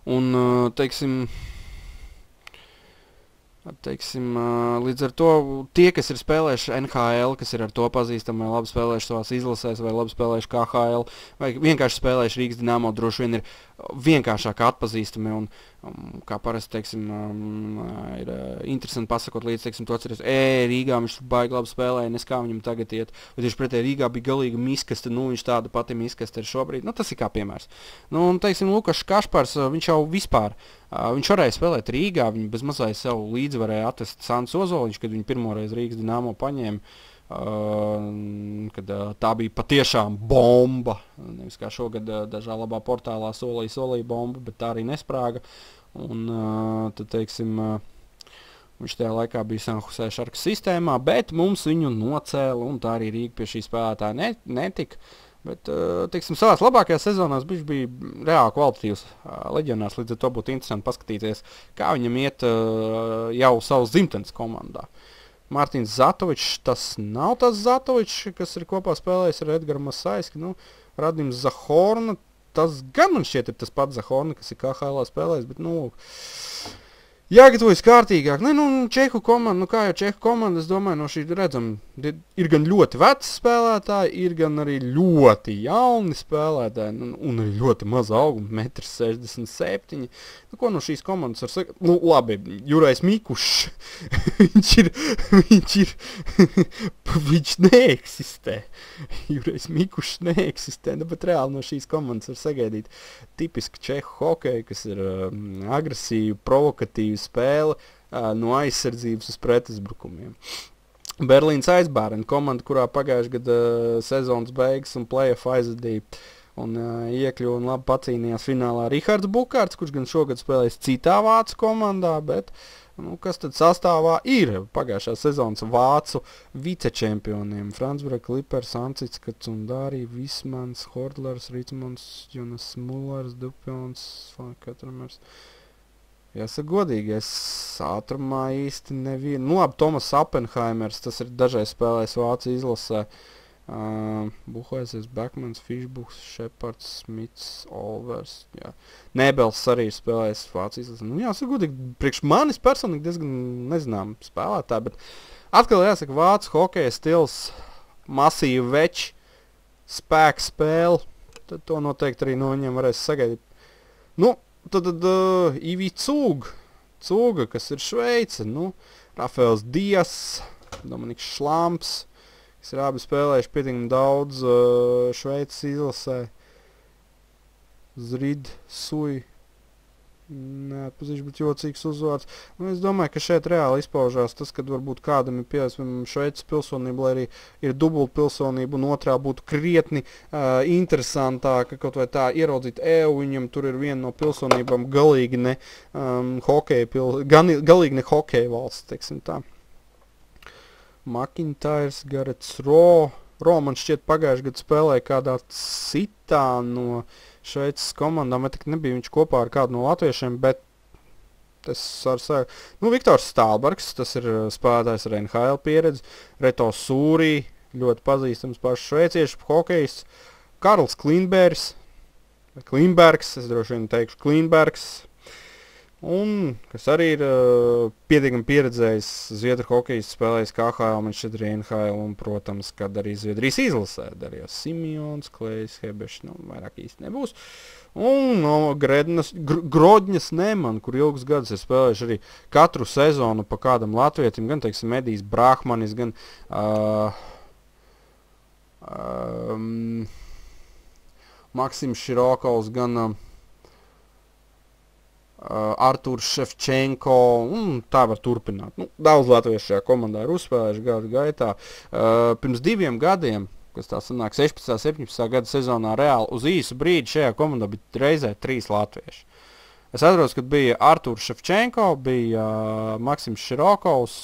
Un, teiksim, teiksim, līdz ar to tie, kas ir spēlējuši N H L, kas ir ar to pazīstami, vai labi spēlējuši savās izlasēs, vai labi spēlējuši K H L, vai vienkārši spēlējuši Rīgas Dinamo, droši vien ir vienkāršāk atpazīstami, un um, kā parasti, teiksim, um, ir uh, interesanti pasakot līdz, teiksim, to atceries, ē, Rīgā viņš baigi labi spēlēja, nes kā viņam tagad iet, vai tieši pretēji Rīgā bija galīga miskaste, nu viņš tāda pati miskaste ir šobrīd, nu tas ir kā piemērs. Nu, un, teiksim, Lukašs Kašpars, uh, viņš jau vispār, uh, viņš varēja spēlēt Rīgā, viņi bez mazai sev līdzi varēja atvest Sants Ozoliņš, kad viņi pirmoreiz Rīgas Dinamo paņēma. Uh, kad uh, tā bija patiešām bomba, nevis kā šogad uh, dažā labā portālā solīja, solīja bomba, bet tā arī nesprāga, un uh, tad, teiksim, uh, viņš tajā laikā bija San Jose Sharks sistēmā, bet mums viņu nocēla, un tā arī Rīga pie šī spēlētāja ne, netika, bet, uh, teiksim, savās labākajās sezonās viņš bija reāli kvalitatīvs uh, leģionārs, līdz ar to būtu interesanti paskatīties, kā viņam iet uh, jau savas dzimtenes komandā. Mārtiņš Zatovičs, tas nav tas Zatovičs, kas ir kopā spēlējis ar Edgaru Masaiski, nu, Radims Zahorna, tas gan man šķiet ir tas pats Zahorna, kas ir K H L spēlējis, bet, nu, jāgatavojas kārtīgāk. Ne, nu, Čehu komanda, nu kā jau Čehu komanda, es domāju, no šī redzam, ir gan ļoti veci spēlētāji, ir gan arī ļoti jauni spēlētāji, un, un arī ļoti maza auguma, metrs sešdesmit septiņi. Nu, ko no šīs komandas var sakot? Nu, labi, Jurais Mikušs, viņš ir, viņš ir, viņš neeksistē. Jurais Mikušs neeksistē, nu, bet reāli no šīs komandas var sagaidīt tipiski Čehu hokeju, kas ir um, agresīvi, provokatīvi spēle uh, no aizsardzības uz pretuzbrukumiem. Berlīnas Aizbērni komanda, kurā pagājušajā gada uh, sezonas beigas un play-off aizvadīja un uh, iekļuva un labi pacīnījās finālā Rihards Bukārts, kurš gan šogad spēlēs citā vācu komandā, bet nu, kas tad sastāvā ir pagājušā sezonas vācu vicečempioniem? Franzbrek, Clippers, Ancits, Kacundārī, Vismans, Hordlers, Ričmonds, Jonas Mullers, Dupjons, Katramers. Jāsaka godīgi, es ātrumā īsti nevienu. Nu labi, Tomas Appenheimers, tas ir dažreiz spēlējis Vācu izlasē. Uh, Buhaises, Beckmans, Fišbuks, Šepards, Smits, Olvers. Jā. Nebels arī ir spēlējis Vācu izlasē. Nu jāsaka godīgi, priekš manis personīgi diezgan nezinām spēlētāji, bet atkal jāsaka Vācu hokeja stils, masīvi veči, spēku spēle. Tad to noteikti arī no viņiem varēs sagaidīt. Nu, tad, tad uh, Ivi Cūga, Cūga, kas ir Šveice, nu, Rafaels Dias, Dominiks Šlamps, kas ir abi spēlējuši pietiekami daudz uh, Šveices izlasē, Zrid, Sui, neatpazīšu, bet jocīgs uzvārds. Nu, es domāju, ka šeit reāli izpaužās tas, kad varbūt kādam ir pieejams Šveices pilsonība, lai arī ir dubult pilsonība, un otrā būtu krietni uh, interesantāka, kaut vai tā ieraudzīt EU, viņam tur ir viena no pilsonībām galīgi ne um, hokeja, pil, gan, galīgi ne hokeja valsts, teiksim tā. McIntyres, Garets Ro, Ro man šķiet pagājuši gadu spēlēja kādā citā no Šveices komandām, bet nebija viņš kopā ar kādu no latviešiem, bet tas ar savu. Nu, Viktors Stālbergs, tas ir spēlētājs ar N H L pieredzi, Reto Sūrī, ļoti pazīstams pašs šveiciešu hokejs Karls Klīnbergs, Klīnbergs, es droši vien teikšu Klīnbergs, un kas arī ir uh, pietiekami pieredzējis Zviedru hokejs, spēlējis K H L, Manchester N H L, un, protams, kad arī Zviedrijas izlasē darījās Simjons, Klejs, Hebešs, nu, vairāk īsti nebūs. Un no Grednas, Gr Grodņas Neman, kur ilgus gadus ir spēlējuši arī katru sezonu pa kādam latvietim, gan, teiksim, Edijs Brahmanis, gan uh, um, Maksims Širokovs, gan uh, Uh, Artūrs Ševčenko, un tā var turpināt. Nu, daudz latviešu šajā komandā ir uzspēlējuši gadu gaitā. Uh, pirms diviem gadiem, kas tā sanāk sešpadsmitā septiņpadsmitā gada sezonā reāli, uz īsu brīdi šajā komandā bija reizē trīs latvieši. Es atceros, kad bija Artūrs Ševčenko, bija uh, Maksims Širokovs,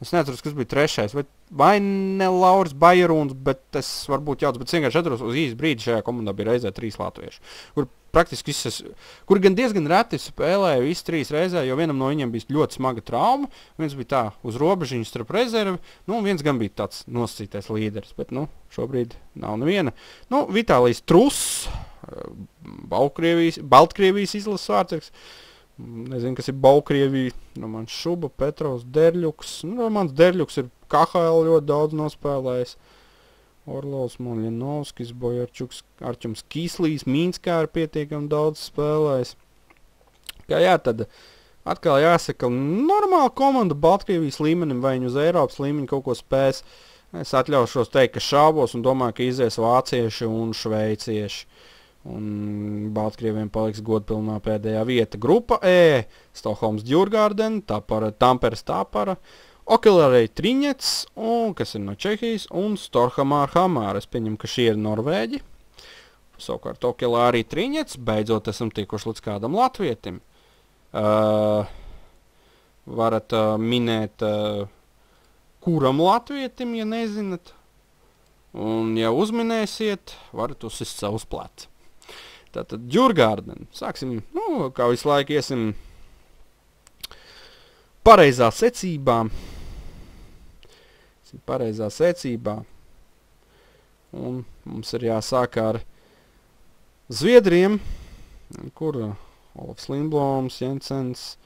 es neatceros, kas bija trešais, vai, vai ne Lauris Bajerūns, bet es varbūt jauc, bet vienkārši atceros, uz īsu brīdi šajā komandā bija reizē trīs latvieši, kur praktiski visas, kur gan diezgan reti spēlēja visi trīs reizē, jo vienam no viņiem bija ļoti smaga trauma, viens bija tā uz robežiņu starp rezervi, nu, un viens gan bija tāds nosacītais līderis, bet, nu, šobrīd nav neviena. Nu, Vitālijs Truss, Baltkrievijas, Baltkrievijas izlases vārdsargs, nezinu, kas ir Baltkrievija, Romans Šuba, Petrovs Derļuks, nu, Romans Derļuks ir K H L ļoti daudz nospēlējis, Orlovs, Moljanovskis, Bojarčuks, Arčums Kīslīs, Mīnskā ir pietiekami daudz spēlējis. Kā jā, tad atkal jāsaka, normāla komanda Baltkrievijas līmenim, vai viņi uz Eiropas līmeņa kaut ko spēs. Es atļaušos teikt, ka šaubos un domāju, ka izies vācieši un šveicieši. Un Baltkrieviem paliks godpilnā pēdējā vieta. Grupa E, Stokholms Djurgārden, Tapara, Tamperes Tapara, Okelerei Triņets, un, kas ir no Čehijas, un Storhamar Hamar. Es pieņemu, ka šie ir Norvēģi. Savukārt Okelerei Triņets, beidzot esam tikuši līdz kādam latvietim. Uh, varat uh, minēt, uh, kuram latvietim, ja nezinat. Un, ja uzminēsiet, varat uzsist savus pleci. Tātad Djurgārden. Sāksim, nu, kā visu laiku iesim pareizā secībā. Pareizā secībā. Un mums ir jāsāk ar Zviedriem, kur Olafs Lindbloms, Jensens,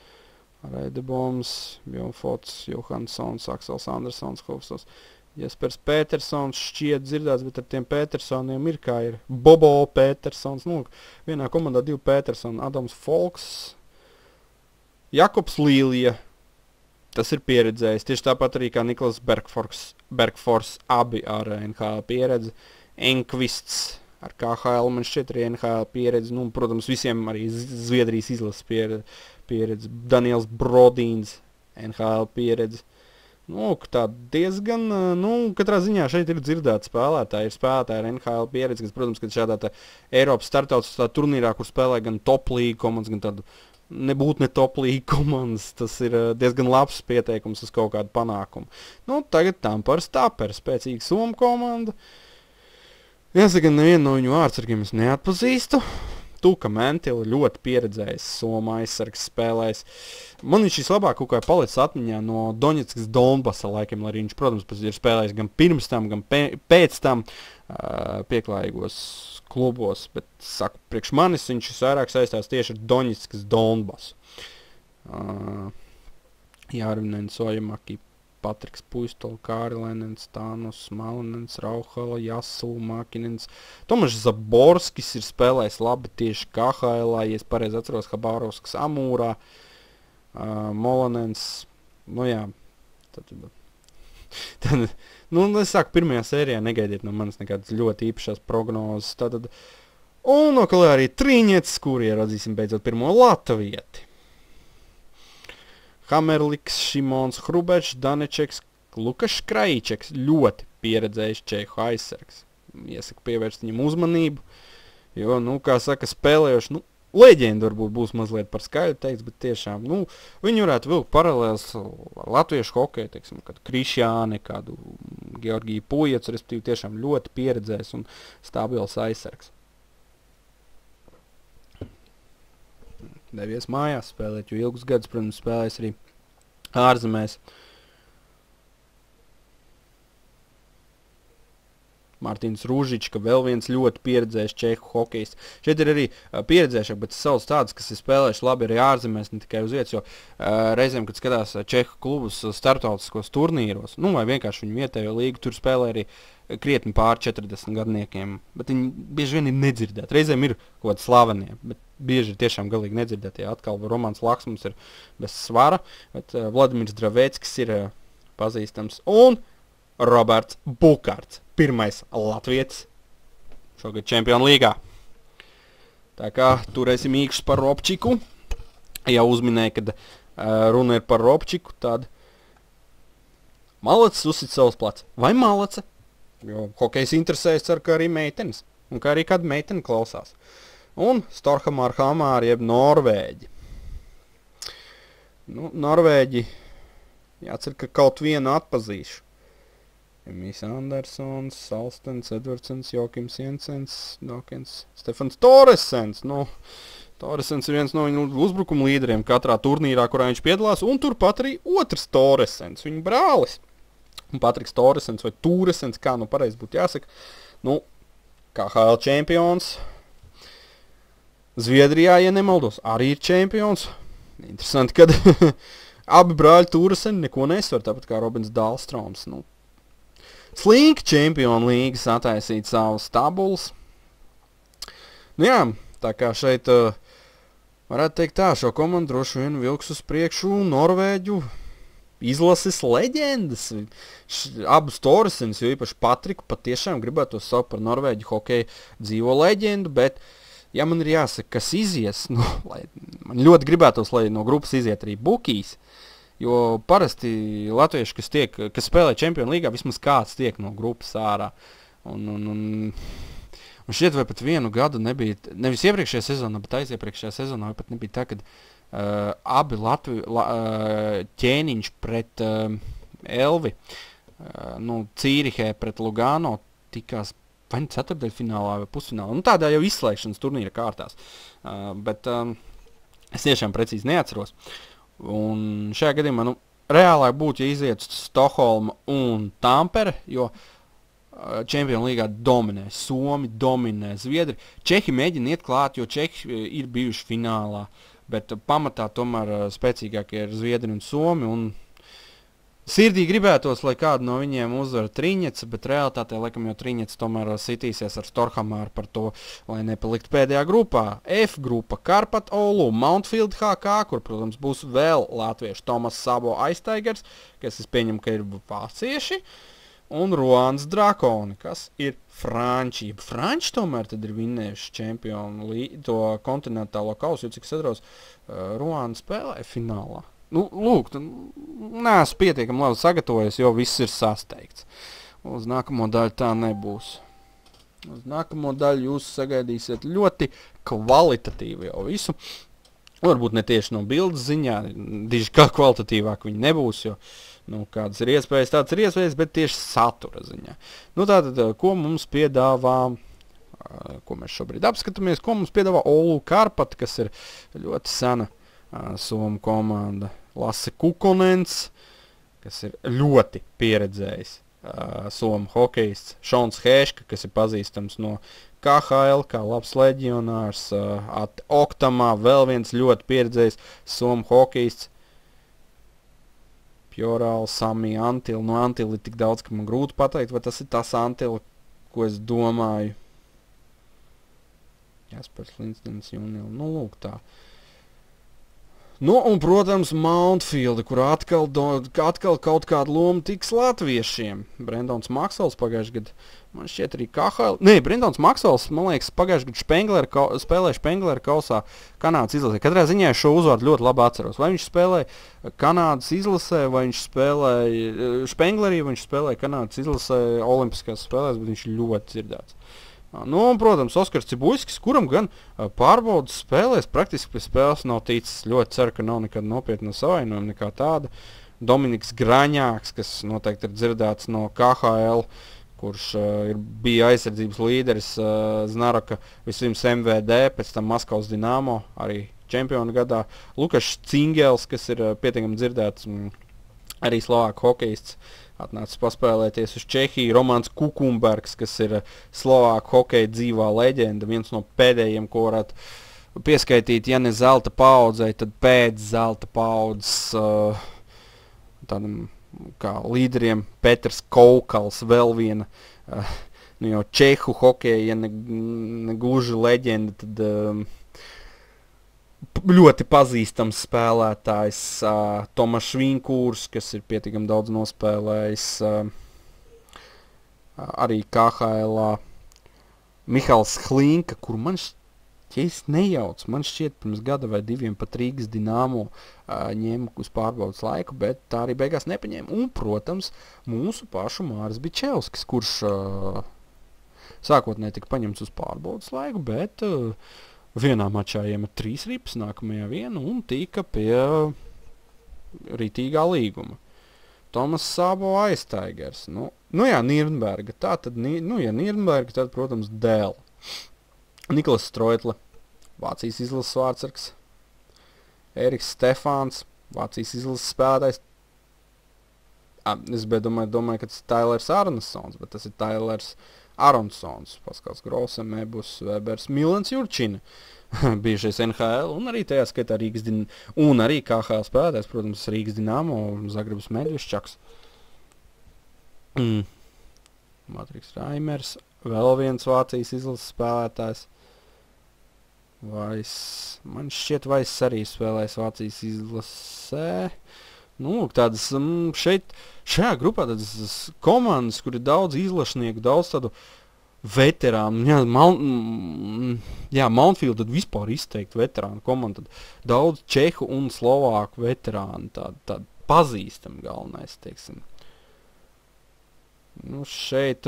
Reideboms, Bjornfots, Johanssons, Aksels Andersons, Hofstos, Jespers Petersons, šķiet dzirdēts, bet ar tiem Petersoniem ir kā ir Bobo Petersons, nu, vienā komandā divi Petersoni, Adams Folks, Jakobs Līlija, tas ir pieredzējis, tieši tāpat arī kā Niklas Bergfors, Bergfors, abi ar N H L pieredzi, Enkvists ar K H L, man šķiet arī N H L pieredzi, nu, protams, visiem arī Zviedrijas izlases pieredzi, Daniels Brodīns, N H L pieredzi. Nu, tā diezgan, nu, katrā ziņā šeit ir dzirdēti spēlētāji, ir spēlētāji ar N H L pieredzi, kas, protams, kad šādā tā Eiropas startautiskā turnīrā, kur spēlē gan top līga komandas, gan tādu nebūt ne top līga komandas, tas ir diezgan labs pieteikums uz kaut kādu panākumu. Nu, tagad Tampares Tapers, spēcīga Somu komanda. Jāsaka, nevienu no viņu vārdsargiem es neatpazīstu. Tuka Mentila ļoti pieredzējis Soma aizsargs spēlēs. Man viņš vislabāk kaut kā palicis atmiņā no Doņetskas Donbasa laikiem, lai viņš, protams, ir spēlējis gan pirms tam, gan pēc tam uh, pieklājīgos klubos, bet, saku, priekš manis viņš vairāk saistās tieši ar Doņetskas Donbasu. Uh, Jārvinens, Ojamaki, Patriks Puistola, Kārilenens, Tānus, Malinens, Rauhala, Jasula, Makinens. Tomašs Zaborskis ir spēlējis labi tieši K H L, ja es pareizi atceros, Habārovskas Amūrā, uh, Molanens, nu jā, tad, tad, nu, es saku, pirmajā sērijā negaidiet no manis nekādas ļoti īpašās prognozes, tātad, un no kalē arī Triņets, kur ieradzīsim beidzot pirmo latvieti. Hamerliks, Šimons Hrubečs, Danečeks, Lukas Kraičeks, ļoti pieredzējis čehu aizsargs. Iesaku pievērst viņam uzmanību, jo, nu, kā saka, spēlējoši, nu, leģenda varbūt būs mazliet par skaļu teiks, bet tiešām, nu, viņi varētu vilkt paralēls ar latviešu hokeju, teiksim, kādu Krišjāni, kādu Georgiju Pujecu, respektīvi tiešām ļoti pieredzējis un stabils aizsargs. Devies mājās spēlēt, jo ilgus gadus, protams, spēlēs arī ārzemēs. Mārtiņš Rūžičs, ka vēl viens ļoti pieredzējis čehu hokejists. Šeit ir arī uh, pieredzējušāk, bet savus tādus, kas ir spēlējuši labi arī ārzemēs, ne tikai uz vietas, jo uh, reizēm, kad skatās čehu klubus starptautiskos turnīros, nu vai vienkārši viņu vietējo līgu, tur spēlē arī krietni pār četrdesmit gadniekiem, bet viņi bieži vien ir nedzirdēti. Reizēm ir kaut kādi slavenie, bet bieži ir tiešām galīgi nedzirdēti. Ja atkal Romans Laksmans ir bez svara, bet uh, Vladimirs Draveckis ir uh, pazīstams. Un Roberts Bukārts, pirmais latvietis šogad Čempionu līgā. Tā kā turēsim īkšus par Robčiku. Ja uzminēja, kad uh, runa ir par Robčiku, tad Malacis uzsit savus plats. Vai Malace? Jo hokejs interesējas, ceru, ka arī meitenes. Un kā arī kāda meitene klausās. Un Storhamar Hamāri, jeb Norvēģi. Nu, Norvēģi, jācer, ka kaut vienu atpazīšu. Emijs Andersons, Salstens, Edvardsens, Jokims Jensens, Dokens, Stefans Toresens. Nu, Toresens ir viens no viņu uzbrukuma līderiem katrā turnīrā, kurā viņš piedalās. Un turpat arī otrs Toresens, viņa brālis. Un Patriks Toresens vai Tūresens, kā nu pareizi būtu jāsaka. Nu, K H L čempions. Zviedrijā, ja nemaldos, arī ir čempions. Interesanti, kad abi brāļi Tūreseni neko nesvar, tāpat kā Robins Dahlstroms. Nu, slinki čempionu līgas attaisīt savus tabulas. Nu jā, tā kā šeit uh, varētu teikt tā, šo komandu droši vien vilks uz priekšu Norvēģu izlases leģendas. Š, abus Toresens, jo īpaši Patriku, patiešām gribētu saukt par Norvēģu hokeju dzīvo leģendu, bet ja man ir jāsaka, kas izies, nu, lai, man ļoti gribētos, lai no grupas iziet arī Bukijs, jo parasti latvieši, kas, tiek, kas spēlē Čempionu līgā, vismaz kāds tiek no grupas ārā. Un, un, un, un šķiet, vai pat vienu gadu nebija, nevis iepriekšējā sezonā, bet aiziepriekšējā sezonā, vai pat nebija tā, kad uh, abi Latvi, la, uh, ķēniņš pret uh, Elvi, uh, nu, Cīrihē pret Lugano tikās vai ceturdaļfinālā vai pusfinālā. Nu, tādā jau izslēgšanas turnīra kārtās. Uh, bet um, es tiešām precīzi neatceros. Un šajā gadījumā, nu, reālāk būtu, ja iziet Stokholma un Tampere, jo uh, Čempionu līgā dominē Somi, dominē Zviedri. Čehi mēģina iet klāt, jo Čehi uh, ir bijuši finālā, bet uh, pamatā tomēr uh, spēcīgākie ir Zviedri un Somi, un sirdī gribētos, lai kādu no viņiem uzvar Triņets, bet realitātē, laikam, jau Triņets tomēr sitīsies ar Storhamāru par to, lai nepalikt pēdējā grupā. F grupa Karpat Oulu, Mountfield H K, kur, protams, būs vēl latvieši Tomas Sabo Aiztaigers, kas es pieņemu, ka ir vācieši, un Ruans Drakoni, kas ir franči. Franči tomēr tad ir vinnējuši čempionu to kontinentālo kausu, jo cik es atceros, uh, Ruans spēlēja finālā. Nu, lūk, neesmu pietiekami labi sagatavojies, jo viss ir sasteigts. Uz nākamo daļu tā nebūs. Uz nākamo daļu jūs sagaidīsiet ļoti kvalitatīvu jau visu. Varbūt ne tieši no bildes ziņā, diži kā kvalitatīvāk viņi nebūs, jo, nu, kādas ir iespējas, tāds ir iespējas, bet tieši satura ziņā. Nu, tātad, ko mums piedāvā, ko mēs šobrīd apskatāmies, ko mums piedāvā Oulu Karpat, kas ir ļoti sena uh, Somu komanda. Lasse Kukonens, kas ir ļoti pieredzējis uh, Somu hokejists. Šons Hēška, kas ir pazīstams no K H L, kā labs leģionārs. Uh, at Oktamā vēl viens ļoti pieredzējis Somu hokejists. Pjorāli, Sami, Antili. No Antili ir tik daudz, ka man grūti pateikt, vai tas ir tas Antili, ko es domāju. Jāspērs Lindsdens, Junil. Nu, lūk tā. Nu, un, protams, Mountfield, kur atkal, do, atkal kaut kāda loma tiks latviešiem. Brendons Maksvels pagājuši gadu, man šķiet arī K H L. Nē, Brendons Maksvels, man liekas, pagājuši gadu Špenglera, spēlēja Špenglera kausā Kanādas izlasē. Katrā ziņā šo uzvārdu ļoti labi atceros. Vai viņš spēlēja Kanādas izlasē, vai viņš spēlēja Špenglerī, vai viņš spēlēja Kanādas izlasē olimpiskās spēlēs, bet viņš ļoti dzirdēts. Nu, un, protams, Oskars Cibuļskis, kuram gan uh, pārbaudas spēlēs, praktiski pie spēles nav ticis. Ļoti ceru, ka nav nekāda nopietna savainojuma, nekā tāda. Dominiks Graņāks, kas noteikti ir dzirdēts no K H L, kurš uh, ir, bija aizsardzības līderis uh, Znaraka, vispirms M V D, pēc tam Maskavas Dinamo, arī čempionu gadā. Lukašs Cingels, kas ir uh, pietiekami dzirdēts mm, Arī Slovāku hokejists atnācis paspēlēties uz Čehiju. Romāns Kukumbergs, kas ir Slovāku hokeja dzīvā leģenda, viens no pēdējiem, ko varētu pieskaitīt, ja ne zelta paudzei, tad pēc zelta paudzes uh, tādam kā līderiem. Petrs Koukals, vēl viena uh, nu jau čehu hokeja, ja ne, ne gluži leģenda, tad uh, ļoti pazīstams spēlētājs. Uh, Tomašs Vinkūrs, kas ir pietiekami daudz nospēlējis uh, arī K H L-ā. Mihals Hlinka, kur man šķiet, ja es nejaucu, man šķiet pirms gada vai diviem pat Rīgas Dinamo uh, ņēma uz pārbaudas laiku, bet tā arī beigās nepaņēma. Un, protams, mūsu pašu Māris Bičevskis, kurš uh, sākotnēji tika paņemts uz pārbaudas laiku, bet uh, vienā mačā iemet trīs ripas, nākamajā vienu un tika pie rītīgā līguma. Tomas Sabo Aiztaigers. Nu, nu jā, Nirnberga. Tā tad, nu ja Nirnberga, tad, protams, Dēl. Niklas Stroitle, Vācijas izlases vārdsargs. Eriks Stefāns, Vācijas izlases spēlētājs. Ah, es biju domāju, domāju, ka tas ir Tailers Aronsons, bet tas ir Tailers Aronsons. Paskals Grosem, Ebus, Webers, Milans Jurčina, bijušais N H L, un arī tajā skaitā Rīgas Din... un arī K H L spēlētājs, protams, Rīgas Dinamo, Zagrebs Medvišķaks. Mm. Matriks Raimers, vēl viens Vācijas izlases spēlētājs. Vais, man šķiet, Vais arī spēlēs Vācijas izlasē. Nu, tādas um, šeit, šajā grupā tādas komandas, kur ir daudz izlašnieku, daudz tādu veterānu. Jā, Mal, mm, jā Mountfield tad vispār izteikti veterānu komanda. Tad daudz čehu un slovāku veterānu, tādu tā pazīstam galvenais, teiksim. Nu, šeit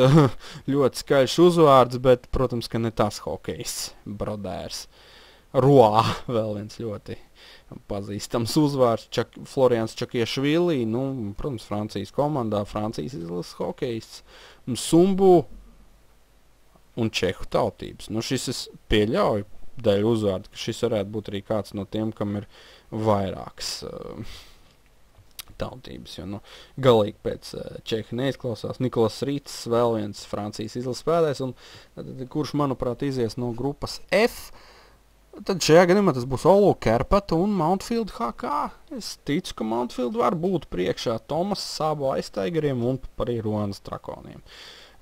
ļoti skaļš uzvārds, bet, protams, ka ne tas hokejs, Brodērs. Roā, vēl viens ļoti pazīstams uzvārds, Čak, Florians Čakiešvili, nu, protams, Francijas komandā, Francijas izlases hokejists, Sumbu un čehu tautības. Nu, šis es pieļauju dēļ uzvārdu, ka šis varētu būt arī kāds no tiem, kam ir vairāks uh, tautības, jo, nu, galīgi pēc uh, čeha neizklausās. Nikolas Rīts, vēl viens Francijas izlases spēlētājs, un tad, kurš, manuprāt, izies no grupas F. Tad šajā gadījumā tas būs Olu Kerpata un Mountfield H K. Es ticu, ka Mountfield var būt priekšā Tomas Sabo Aiztaigeriem un arī Ruanas Trakoniem.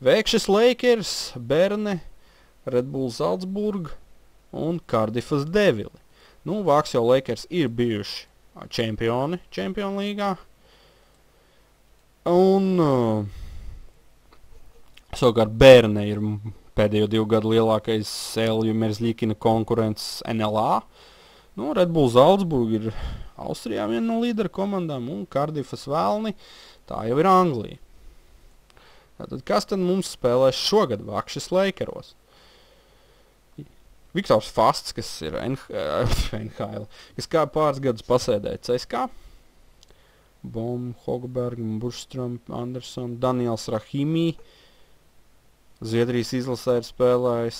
Vēkšas Lakers, Berne, Red Bull Salzburg un Cardiffas Devili. Nu, Vāks jau Lakers ir bijuši čempioni Čempionu līgā. Un uh, savukārt Berne ir pēdējo divu gadu lielākais Elju Merzļikina konkurents N L A. Nu, Red Bull Salzburg ir Austrijā viena no līdera komandām, un Cardiffas Vēlni, tā jau ir Anglija. Tātad, kas tad mums spēlēs šogad Vakšas Lakeros? Viktors Fasts, kas ir N H L, kas kā pāris gadus pasēdēja C S K. Bom, Hogberg, Burstrom, Anderson, Daniels Rahimī, Zviedrijas izlasē ir spēlējis.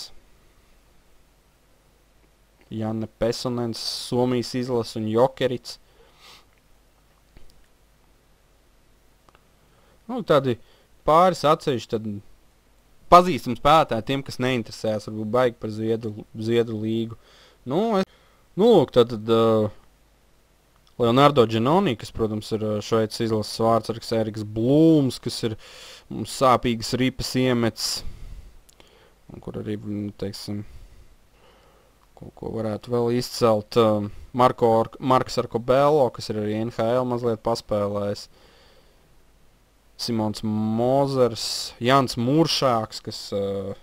Janne Pesonens, Somijas izlase un Jokerits. Nu, tādi pāris atsevišķi tad pazīstam spēlētāji tiem, kas neinteresējas, varbūt baigi par Zviedru, Zviedru līgu. Nu, es, nu lūk, tad, tad uh, Leonardo Giannoni, kas, protams, ir Šveices izlases vārdsargs, Eriks Blūms, kas ir mums sāpīgas ripas iemets, un kur arī, teiksim, ko, ko varētu vēl izcelt, uh, Marko, Marks Arkobello, kas ir arī N H L mazliet paspēlējis, Simons Mozers, Jans Muršāks, kas uh,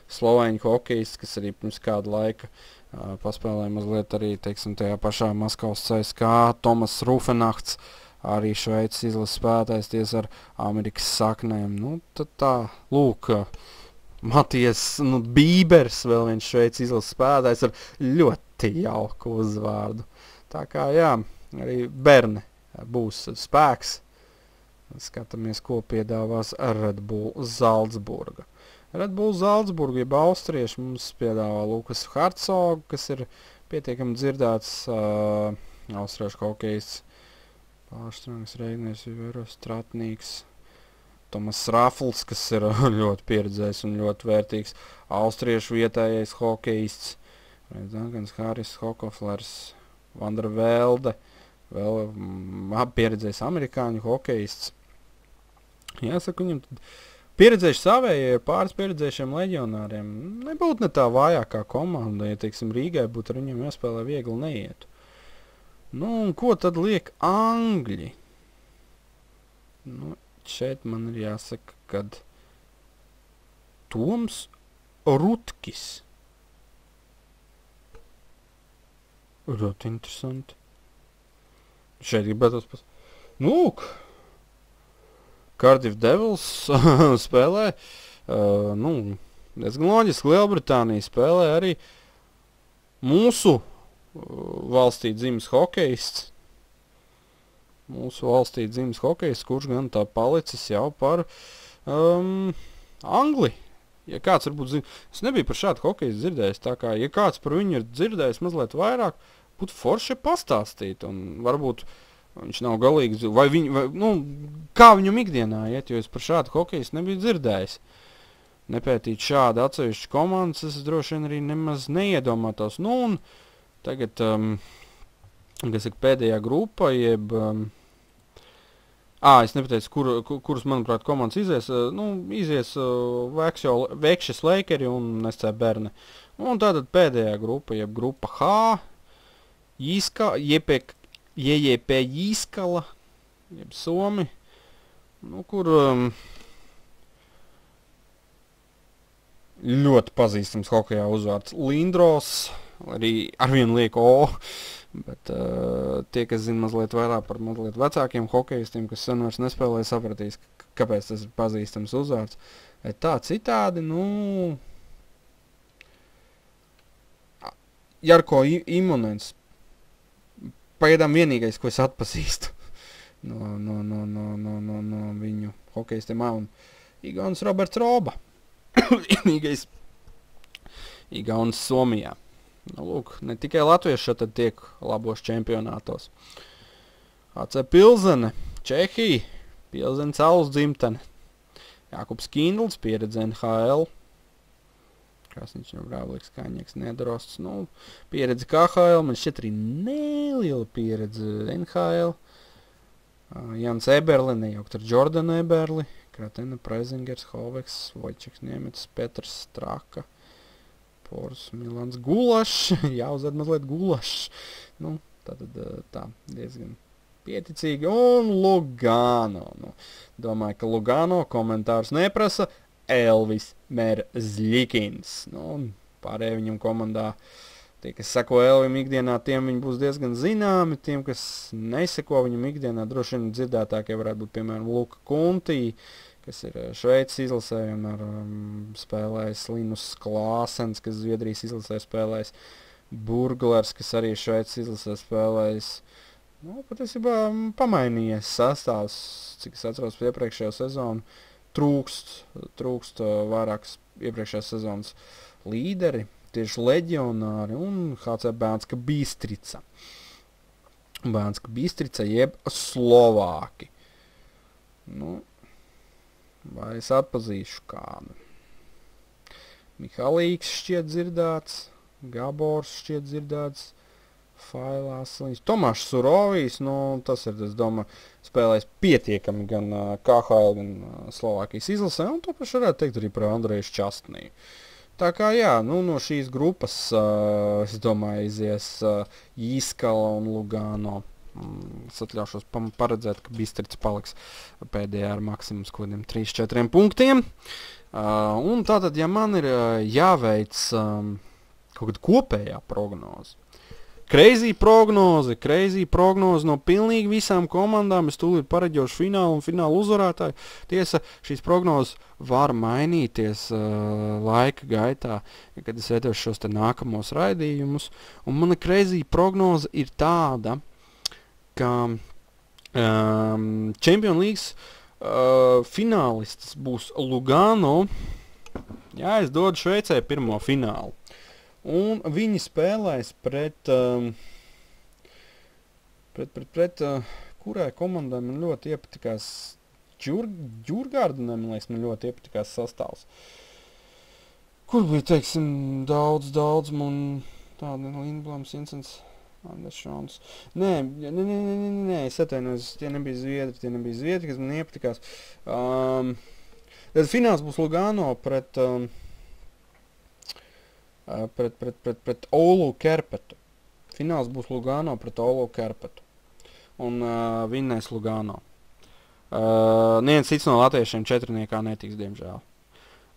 slovēņu hokejists, kas arī pirms kāda laika uh, paspēlēja mazliet arī, teiksim, tajā pašā Maskavas C S K, Tomas Rufenachts, arī Šveices izlases spēlētājs ties ar Amerikas saknēm. Nu, tad tā, lūk, Matijas, nu, Bībers, vēl viens Šveices izlases spēlētājs ar ļoti jauku uzvārdu. Tā kā, jā, arī Berne būs spēks. Skatāmies, ko piedāvās Red Bull Salzburga. Red Bull Salzburga, jeb austrieši, mums piedāvā Lukas Hartsogu, kas ir pietiekami dzirdēts uh, austriešu hokejists. Pārstrangs, Reigners, Viveros, Stratnīgs, Tomas Rafls, kas ir ļoti pieredzējis un ļoti vērtīgs. Austriešu vietējais hokejists. Dankans Haris, Hokoflers, Vandra Velde, vēl mm, pieredzējis amerikāņu hokejists. Jāsaka, viņam pieredzējuši savējie pāris pieredzējušiem leģionāriem. Nebūtu ne tā vājākā komanda, ja, teiksim, Rīgai būtu ar viņiem jāspēlē viegli neietu. Nu, un ko tad liek Angļi? Nu, šeit man ir jāsaka, kad Toms Rutkis. Ļoti interesanti. Šeit gribētos pas... Nu, lūk. Cardiff Devils spēlē, uh, nu, diezgan loģiski, Lielbritānija spēlē arī mūsu uh, valstī dzimis hokejists. Mūsu valstī dzimis hokejists, kurš gan tā palicis jau par um, Angli. Ja kāds varbūt zina, es nebiju par šādu hokejistu dzirdējis, tā kā, ja kāds par viņu ir dzirdējis mazliet vairāk, būtu forši pastāstīt, un varbūt viņš nav galīgi, vai viņi, vai, nu, kā viņam ikdienā iet, jo es par šādu hokejistu nebiju dzirdējis. Nepētīt šādu atsevišķu komandas, es droši vien arī nemaz neiedomātos. Nu, un tagad, um, kas ir pēdējā grupa, jeb, um, ā, es nepateicu, kur, kur, kuras, manuprāt, komandas izies, uh, nu, izies uh, Vekšas Lakeri un S C Berne. Un tātad pēdējā grupa, jeb grupa H, Jīska, jepek, J J P Jīskala, jeb Somi, nu, kur um, ļoti pazīstams hokejā uzvārds Lindros, arī arvien liek O, bet uh, tie, kas zina mazliet vairāk par mazliet vecākiem hokejistiem, kas sen vairs nespēlē, sapratīs, kāpēc tas ir pazīstams uzvārds. Tā citādi, nu, Jarko Imonens, pagaidām vienīgais, ko es atpazīstu no, no, no, no, no, no, no viņu hokejistiem, un Igauns Roberts Roba. Vienīgais Igauns Somijā. Nu, lūk, ne tikai latvieši tad tiek labos čempionātos. A C Pilzene, Čehija, Pilzene Saules dzimtene. Jākubs Kindls, pieredze N H L. Krasniņš jau Brāvliks, Kaņieks, Nedorosts, nu, pieredze K H L, man šķiet arī neliela pieredze N H L. Uh, Jans Eberli, nejaukt ar Jordan Eberli, Kratena, Preizingers, Hoveks, Vojčeks, Niemets, Petrs, Straka, Pors, Milans, Gulašs, jāuzved mazliet Gulašs. Nu, tātad tā, diezgan pieticīgi, un Lugano. Nu, domāju, ka Lugano komentārs neprasa, Elvis Merzlikins. Nu, pārējie viņam komandā, tie, kas seko Elvim ikdienā, tiem viņi būs diezgan zināmi, tiem, kas neseko viņam ikdienā, droši vien dzirdētākie varētu būt, piemēram, Luka Kuntī, kas ir Šveices izlasē, vienmēr um, spēlējis Linus Klāsens, kas Zviedrijas izlasē spēlējis, Burglers, kas arī Šveices izlasē spēlējis. Nu, patiesībā pamainījies sastāvs, cik es atceros iepriekšējo sezonu. Trūkst, trūkst uh, vairākas iepriekšējās sezonas līderi, tieši leģionāri un H C Banska Bistrica. Banska Bistrica jeb Slovāki. Nu, vai es atpazīšu kādu? Mihalīks šķiet dzirdēts, Gabors šķiet dzirdēts, Failās, Tomašs Surovijs, nu, tas ir, es domāju, spēlējis pietiekami gan uh, K H L, gan uh, Slovākijas izlasē, un to pašu varētu teikt arī par Andreju Šķastniju. Tā kā, jā, nu, no šīs grupas, uh, es domāju, izies uh, Jīskala un Lugano. Mm, es atļaušos paredzēt, ka Bistrica paliks pēdējā ar maksimums kodiem trīs četriem punktiem. Uh, un tātad, ja man ir uh, jāveic um, kaut kāda kopējā prognoze, Crazy prognoze, crazy prognoze no pilnīgi visām komandām. Es tūlīt pareģošu finālu un finālu uzvarētāju. Tiesa, šīs prognozes var mainīties uh, laika gaitā, kad es veidošu šos te nākamos raidījumus. Un mana crazy prognoze ir tāda, ka um, Champions Leagues uh, finālists būs Lugano. Jā, es dodu Šveicē pirmo finālu. Un viņi spēlēs pret, um, pret, pret, pret, uh, kurai komandai man ļoti iepatikās Džur, Džurgārdenē, man liekas, man ļoti iepatikās sastāvs. Kur bija, teiksim, daudz, daudz, man tāda Lindblams, Incens, Anders Šons. Nē, nē, nē, nē, nē, nē, es atvainojos, tie nebija zviedri, tie nebija zviedri, kas man iepatikās. Um, tad fināls būs Lugano pret, um, pret, pret, pret, pret Oulu Kerpetu. Fināls būs Lugano pret Oulu Kerpetu. Un uh, vinnēs Lugano. Uh, neviens cits no latviešiem četrniekā netiks, diemžēl.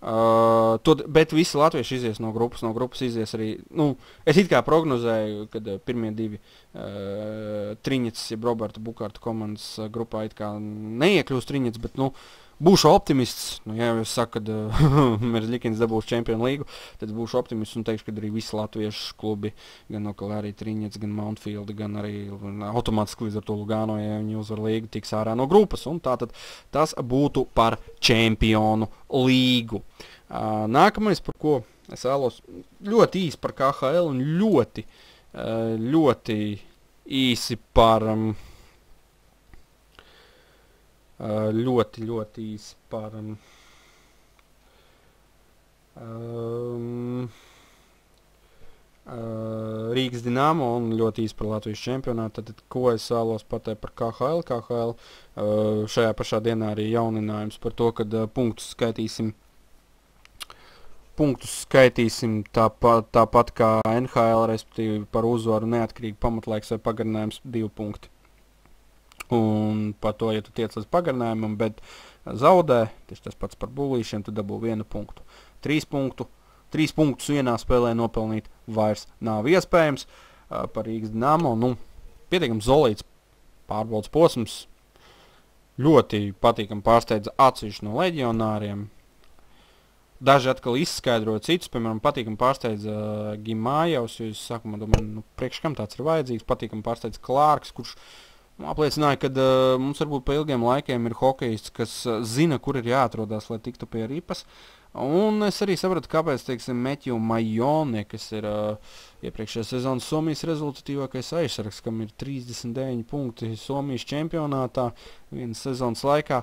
Uh, to, bet visi latvieši izies no grupas, no grupas izies arī, nu, es it kā prognozēju, kad uh, pirmie divi uh, Triņets, jeb Roberta Bukārta komandas uh, grupā it kā neiekļūst Triņets, bet, nu, būšu optimists, nu, ja jau es saku, kad uh, Merzlikins dabūs Čempionu līgu, tad būšu optimists un teikšu, kad arī visi latviešu klubi, gan no arī Triņets, gan Mountfield, gan arī automātiski līdz ar to Lugano, ja viņi uzvar līgu, tiks ārā no grupas, un tātad tas būtu par Čempionu līgu. Uh, nākamais, par ko es vēlos ļoti īsi par K H L un ļoti, uh, ļoti īsi par... Um, Uh, ļoti, ļoti īsi par um, um, uh, Rīgas Dinamo un ļoti īsi par Latvijas čempionātu. Tad, ko es vēlos pateikt par K H L? K H L uh, šajā pašā dienā arī jauninājums par to, kad uh, punktus skaitīsim, punktus skaitīsim tāpat, tāpat kā N H L, respektīvi par uzvaru neatkarīgi pamatlaiks vai pagarinājums divi punkti. Un par to, ja tu tiec līdz pagarinājumam, bet zaudē, tieši tas pats par bullīšiem, tu dabū vienu punktu. Trīs punktu, trīs punktus vienā spēlē nopelnīt vairs nav iespējams. Uh, par Rīgas Dinamo, nu, pietiekams solīts pārbaudas posms, ļoti patīkam pārsteidza atsevišķi no leģionāriem. Daži atkal izskaidroja citus, piemēram, patīkam pārsteidza uh, Gimājevs, jo es sākumā domāju, nu, priekš kam tāds ir vajadzīgs, patīkam pārsteidza Klārks, kurš apliecināja, ka uh, mums varbūt pa ilgiem laikiem ir hokejists, kas uh, zina, kur ir jāatrodās, lai tiktu pie ripas. Un es arī sapratu, kāpēc, teiksim, Metju Majone, kas ir uh, iepriekšējā sezonas Somijas rezultatīvākais aizsargs, kam ir trīsdesmit deviņi punkti Somijas čempionātā vienas sezonas laikā,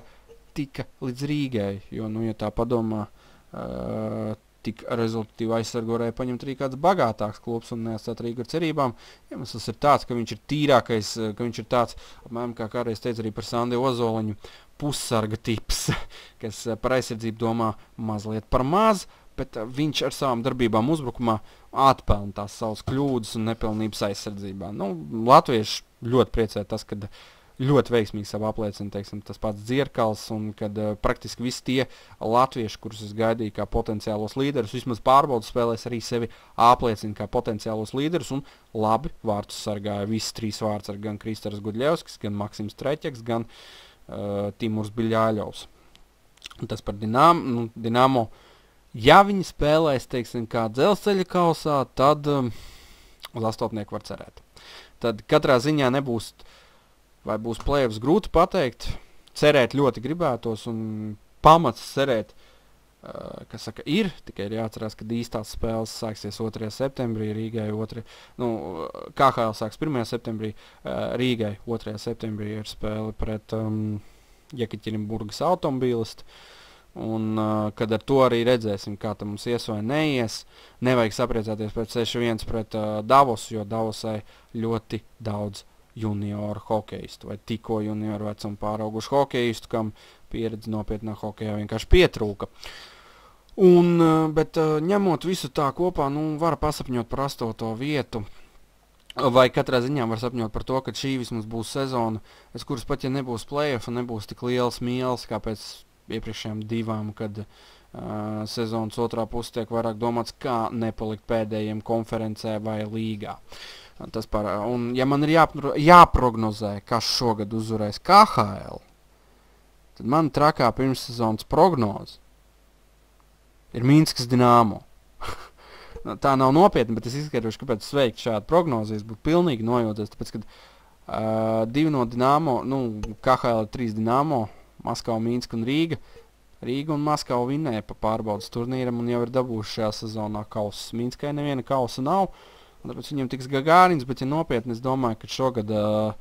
tika līdz Rīgai. Jo, nu, ja tā padomā, uh, tik rezultatīvu aizsargu varēja paņemt arī kāds bagātāks klubs un neatstāt Rīgu ar cerībām. Iemesls ir tāds, ka viņš ir tīrākais, ka viņš ir tāds, apmēram kā kādreiz teica arī par Sandi Ozoliņu, pussarga tips, kas par aizsardzību domā mazliet par maz, bet viņš ar savām darbībām uzbrukumā atpelna tās savas kļūdas un nepilnības aizsardzībā. Nu, latvieši ļoti priecē tas, kad ļoti veiksmīgi savu apliecina, teiksim, tas pats Dzierkals, un kad uh, praktiski visi tie latvieši, kurus es gaidīju kā potenciālos līderus, vismaz pārbaudas spēlēs arī sevi apliecina kā potenciālos līderus, un labi vārtus sargāja visi trīs vārds ar gan Kristers Gudļevskis, gan Maksims Treķeks, gan uh, Timurs Biļāļovs. Un tas par Dinamo, nu, Dinamo, ja viņi spēlēs, teiksim, kā Dzelzceļa kausā, tad um, uz astotnieku var cerēt. Tad katrā ziņā nebūs vai būs play-offs, grūti pateikt, cerēt ļoti gribētos un pamats cerēt, uh, kas saka, ir, tikai ir jāatcerās, ka īstās spēles sāksies otrajā septembrī, Rīgai otrajā, nu, K H L sāks pirmajā septembrī, uh, Rīgai otrajā septembrī ir spēle pret um, Jekaķerinburgas automobīlistu, un uh, kad ar to arī redzēsim, kā tam mums ies vai neies, nevajag sapriecāties pēc seši viens pret uh, Davosu, jo Davosai ļoti daudz junioru hokeistu vai tikko junioru vecumu pāraugušu hokeistu, kam pieredze nopietnā hokejā vienkārši pietrūka. Un, bet ņemot visu tā kopā, nu, var pasapņot par astoto vietu, vai katrā ziņā var sapņot par to, ka šī vismaz būs sezona, es kuras pat, ja nebūs play-off, nebūs tik liels mīls, kā pēc iepriekšējām divām, kad uh, sezonas otrā puse tiek vairāk domāts, kā nepalikt pēdējiem konferencē vai līgā. Tas par, un ja man ir jāpro, jāprognozē, kas šogad uzvarēs K H L, tad man trakā pirmssezonas prognoze ir Minskas Dinamo. Tā nav nopietna, bet es izskaidrošu, kāpēc sveikt šādu prognozi. Es būtu pilnīgi nojūties, tāpēc, kad uh, divi no Dinamo, nu, K H L ir trīs Dinamo, Maskava, Minska un Rīga. Rīga un Maskava vinnēja pa pārbaudas turnīram un jau ir dabūjuši šajā sezonā kausas. Minskai neviena kausa nav. Un tāpēc viņam tiks Gagārins, bet ja nopietni es domāju, ka šogad uh,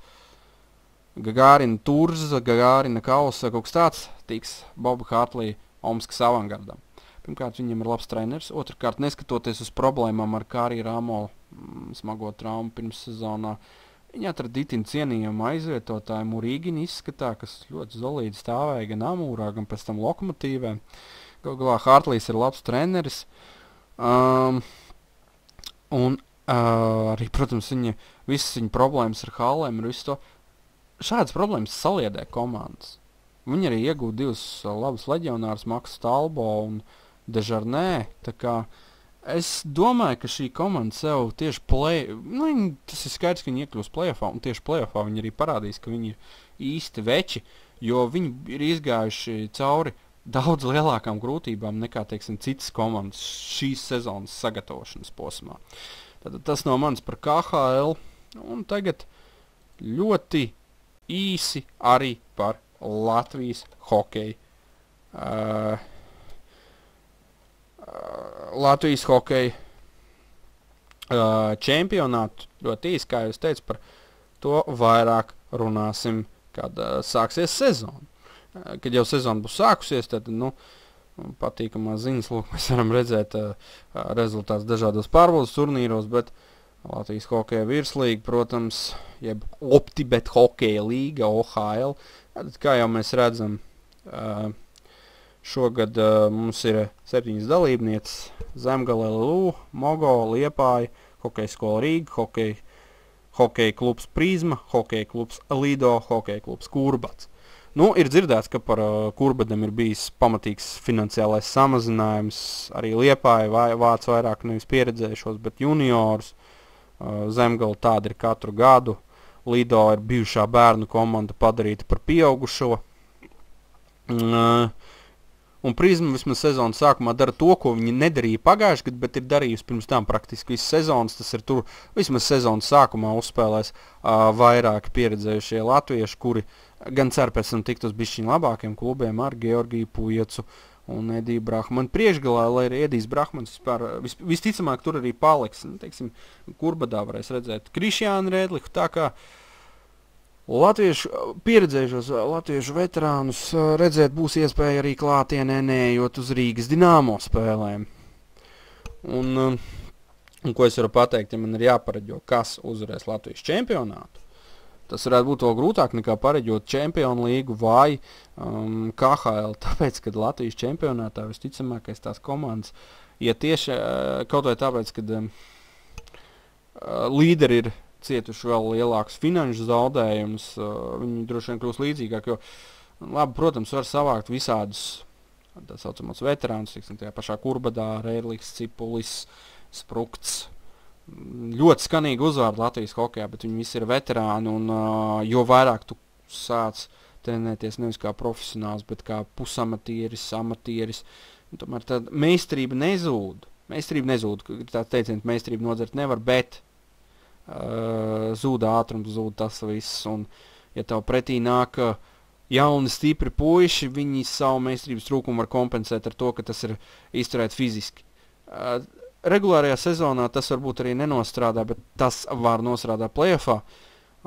Gagārina Turza, Gagārina Kausa, kaut kas tāds tiks Boba Hartlija Omskas avangardam. Pirmkārt, viņam ir labs treneris, otrkārt, neskatoties uz problēmām ar Kārī Rāmolu mm, smago traumu pirms sezonā, viņi atrada itin cienījumu aizvietotāju Murīgini izskatā, kas ļoti zolīdi stāvēja gan Amūrā, gan pēc tam Lokomotīvē. Galu galā Hartlijs ir labs treneris. Um, un uh, arī, protams, viņa, visas viņa problēmas ar hallēm ir visu to. Šādas problēmas saliedē komandas. Viņi arī iegūda divus uh, labus leģionārus, Maksu Talbo un Dežarnē. Tā kā es domāju, ka šī komanda sev tieši play... Nu, viņi, tas ir skaidrs, ka viņi iekļūs playoffā, un tieši playoffā viņi arī parādīs, ka viņi ir īsti veči, jo viņi ir izgājuši cauri daudz lielākām grūtībām nekā, teiksim, citas komandas šīs sezonas sagatavošanas posmā. Tātad tas no manis par K H L, un tagad ļoti īsi arī par Latvijas hokeju. Uh, uh, Latvijas hokeju uh, čempionātu ļoti īsi, kā jūs teicu, par to vairāk runāsim, kad uh, sāksies sezona. Uh, kad jau sezona būs sākusies, tad, nu, patīkamā ziņas, lūk, mēs varam redzēt uh, uh, rezultātus dažādos pārbaudas turnīros, bet Latvijas hokeja virslīga, protams, jeb Optibet hokeja līga, O H L. Tad, kā jau mēs redzam, uh, šogad uh, mums ir septiņas dalībnieces – Zemgale, L U, Mogo, Liepāja, Hokeja skola Rīga, hokeja, hokeja klubs Prizma, hokeja klubs Lido, hokeja klubs Kurbats. Nu, ir dzirdēts, ka par uh, Kurbadam ir bijis pamatīgs finansiālais samazinājums. Arī Liepāja vai, vāc vairāk nevis pieredzējušos, bet juniorus. Uh, Zemgala tāda ir katru gadu. Lido ir bijušā bērnu komanda padarīta par pieaugušo. Uh, un Prizma vismaz sezonas sākumā dara to, ko viņi nedarīja pagājuši gadu, bet ir darījusi pirms tam praktiski visas sezonas. Tas ir tur vismaz sezonas sākumā uzspēlēs uh, vairāki pieredzējušie latvieši, kuri gan cer pēc tam tikt uz bišķiņu labākiem klubiem ar Georgiju Pujecu un Ediju Brahmanu priekšgalā, lai arī Edijs Brahmans vispār, vis, visticamāk tur arī paliks. Nu, teiksim, Kurbadā varēs redzēt Krišjānu Rēdliku, tā kā latviešu, pieredzējušos latviešu veterānus redzēt būs iespēja arī klātienē neejot uz Rīgas Dinamo spēlēm. Un, un ko es varu pateikt, ja man ir jāpareģo, kas uzvarēs Latvijas čempionātu, tas varētu būt vēl grūtāk nekā pareģot Čempionu līgu vai um, K H L, tāpēc, kad Latvijas čempionātā visticamākais tās komandas, ja tieši uh, kaut vai tāpēc, kad um, uh, līderi ir cietuši vēl lielākus finanšu zaudējumus, uh, viņi droši vien kļūs līdzīgāk, jo, labi, protams, var savākt visādus tā saucamos veterānus, tiksim, tajā pašā Kurbadā, Rēdliks, Cipulis, Sprukts, ļoti skanīgi uzvārdi Latvijas hokejā, bet viņi visi ir veterāni, un uh, jo vairāk tu sāc trenēties nevis kā profesionāls, bet kā pusamatieris, amatieris, un tomēr tāda meistarība nezūd. Meistarība nezūd, tāds teiciens, meistarība nodzert nevar, bet uh, zūd ātrums, zūd tas viss, un ja tev pretī nāk uh, jauni, stipri puiši, viņi savu meistarības trūkumu var kompensēt ar to, ka tas ir izturēt fiziski. Uh, Regulārajā sezonā tas varbūt arī nenostrādā, bet tas var nostrādāt playoffā.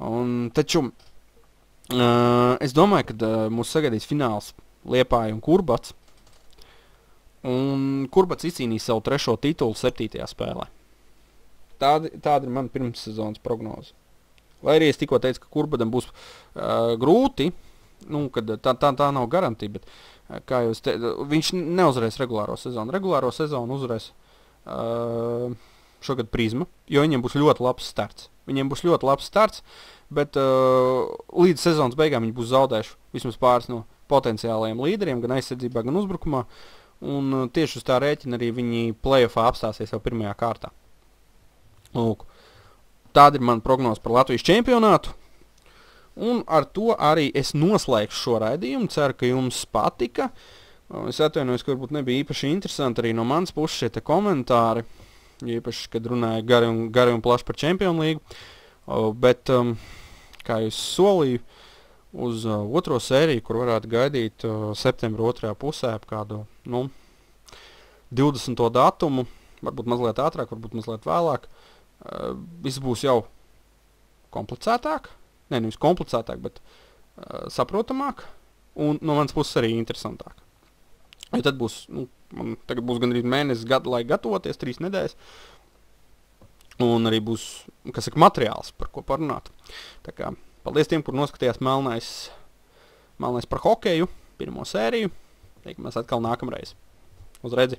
Un, taču uh, es domāju, ka uh, mūs sagaidīs fināls Liepāja un Kurbats. Un Kurbats izcīnīs savu trešo titulu septītajā spēlē. Tāda, tāda ir mana pirmssezonas prognoze. Lai arī es tikko teicu, ka Kurbatam būs uh, grūti, nu, kad tā, tā, tā nav garantija, bet uh, kā jūs te, viņš neuzvarēs regulāro sezonu. Regulāro sezonu uzvarēs Uh, šogad Prizma, jo viņiem būs ļoti labs starts. Viņiem būs ļoti labs starts, bet uh, līdz sezonas beigām viņi būs zaudējuši vismaz pāris no potenciālajiem līderiem, gan aizsardzībā, gan uzbrukumā. Un uh, tieši uz tā rēķina arī viņi playoffā apstāsies jau pirmajā kārtā. Lūk, tāda ir mana prognoze par Latvijas čempionātu. Un ar to arī es noslēgšu šo raidījumu. Ceru, ka jums patika. Es atvainojos, ka varbūt nebija īpaši interesanti arī no manas puses šie te komentāri, īpaši, kad runāja gari un, gari un plaši par Čempionu līgu, uh, bet, um, kā jūs solīju, uz uh, otro sēriju, kur varētu gaidīt uh, septembra otrajā pusē ap kādu, nu, divdesmito datumu, varbūt mazliet ātrāk, varbūt mazliet vēlāk, uh, viss būs jau komplicētāk, ne, nevis komplicētāk, bet uh, saprotamāk, un no manas puses arī interesantāk. Jo tad būs, nu, man tagad būs gandrīz mēnesis gadu, lai gatavoties, trīs nedēļas, un arī būs, kas saka, materiāls, par ko parunāt. Tā kā, paldies tiem, kur noskatījās Melnais, Melnais par hokeju, pirmo sēriju, teikamies atkal nākamreiz. Uz redzi!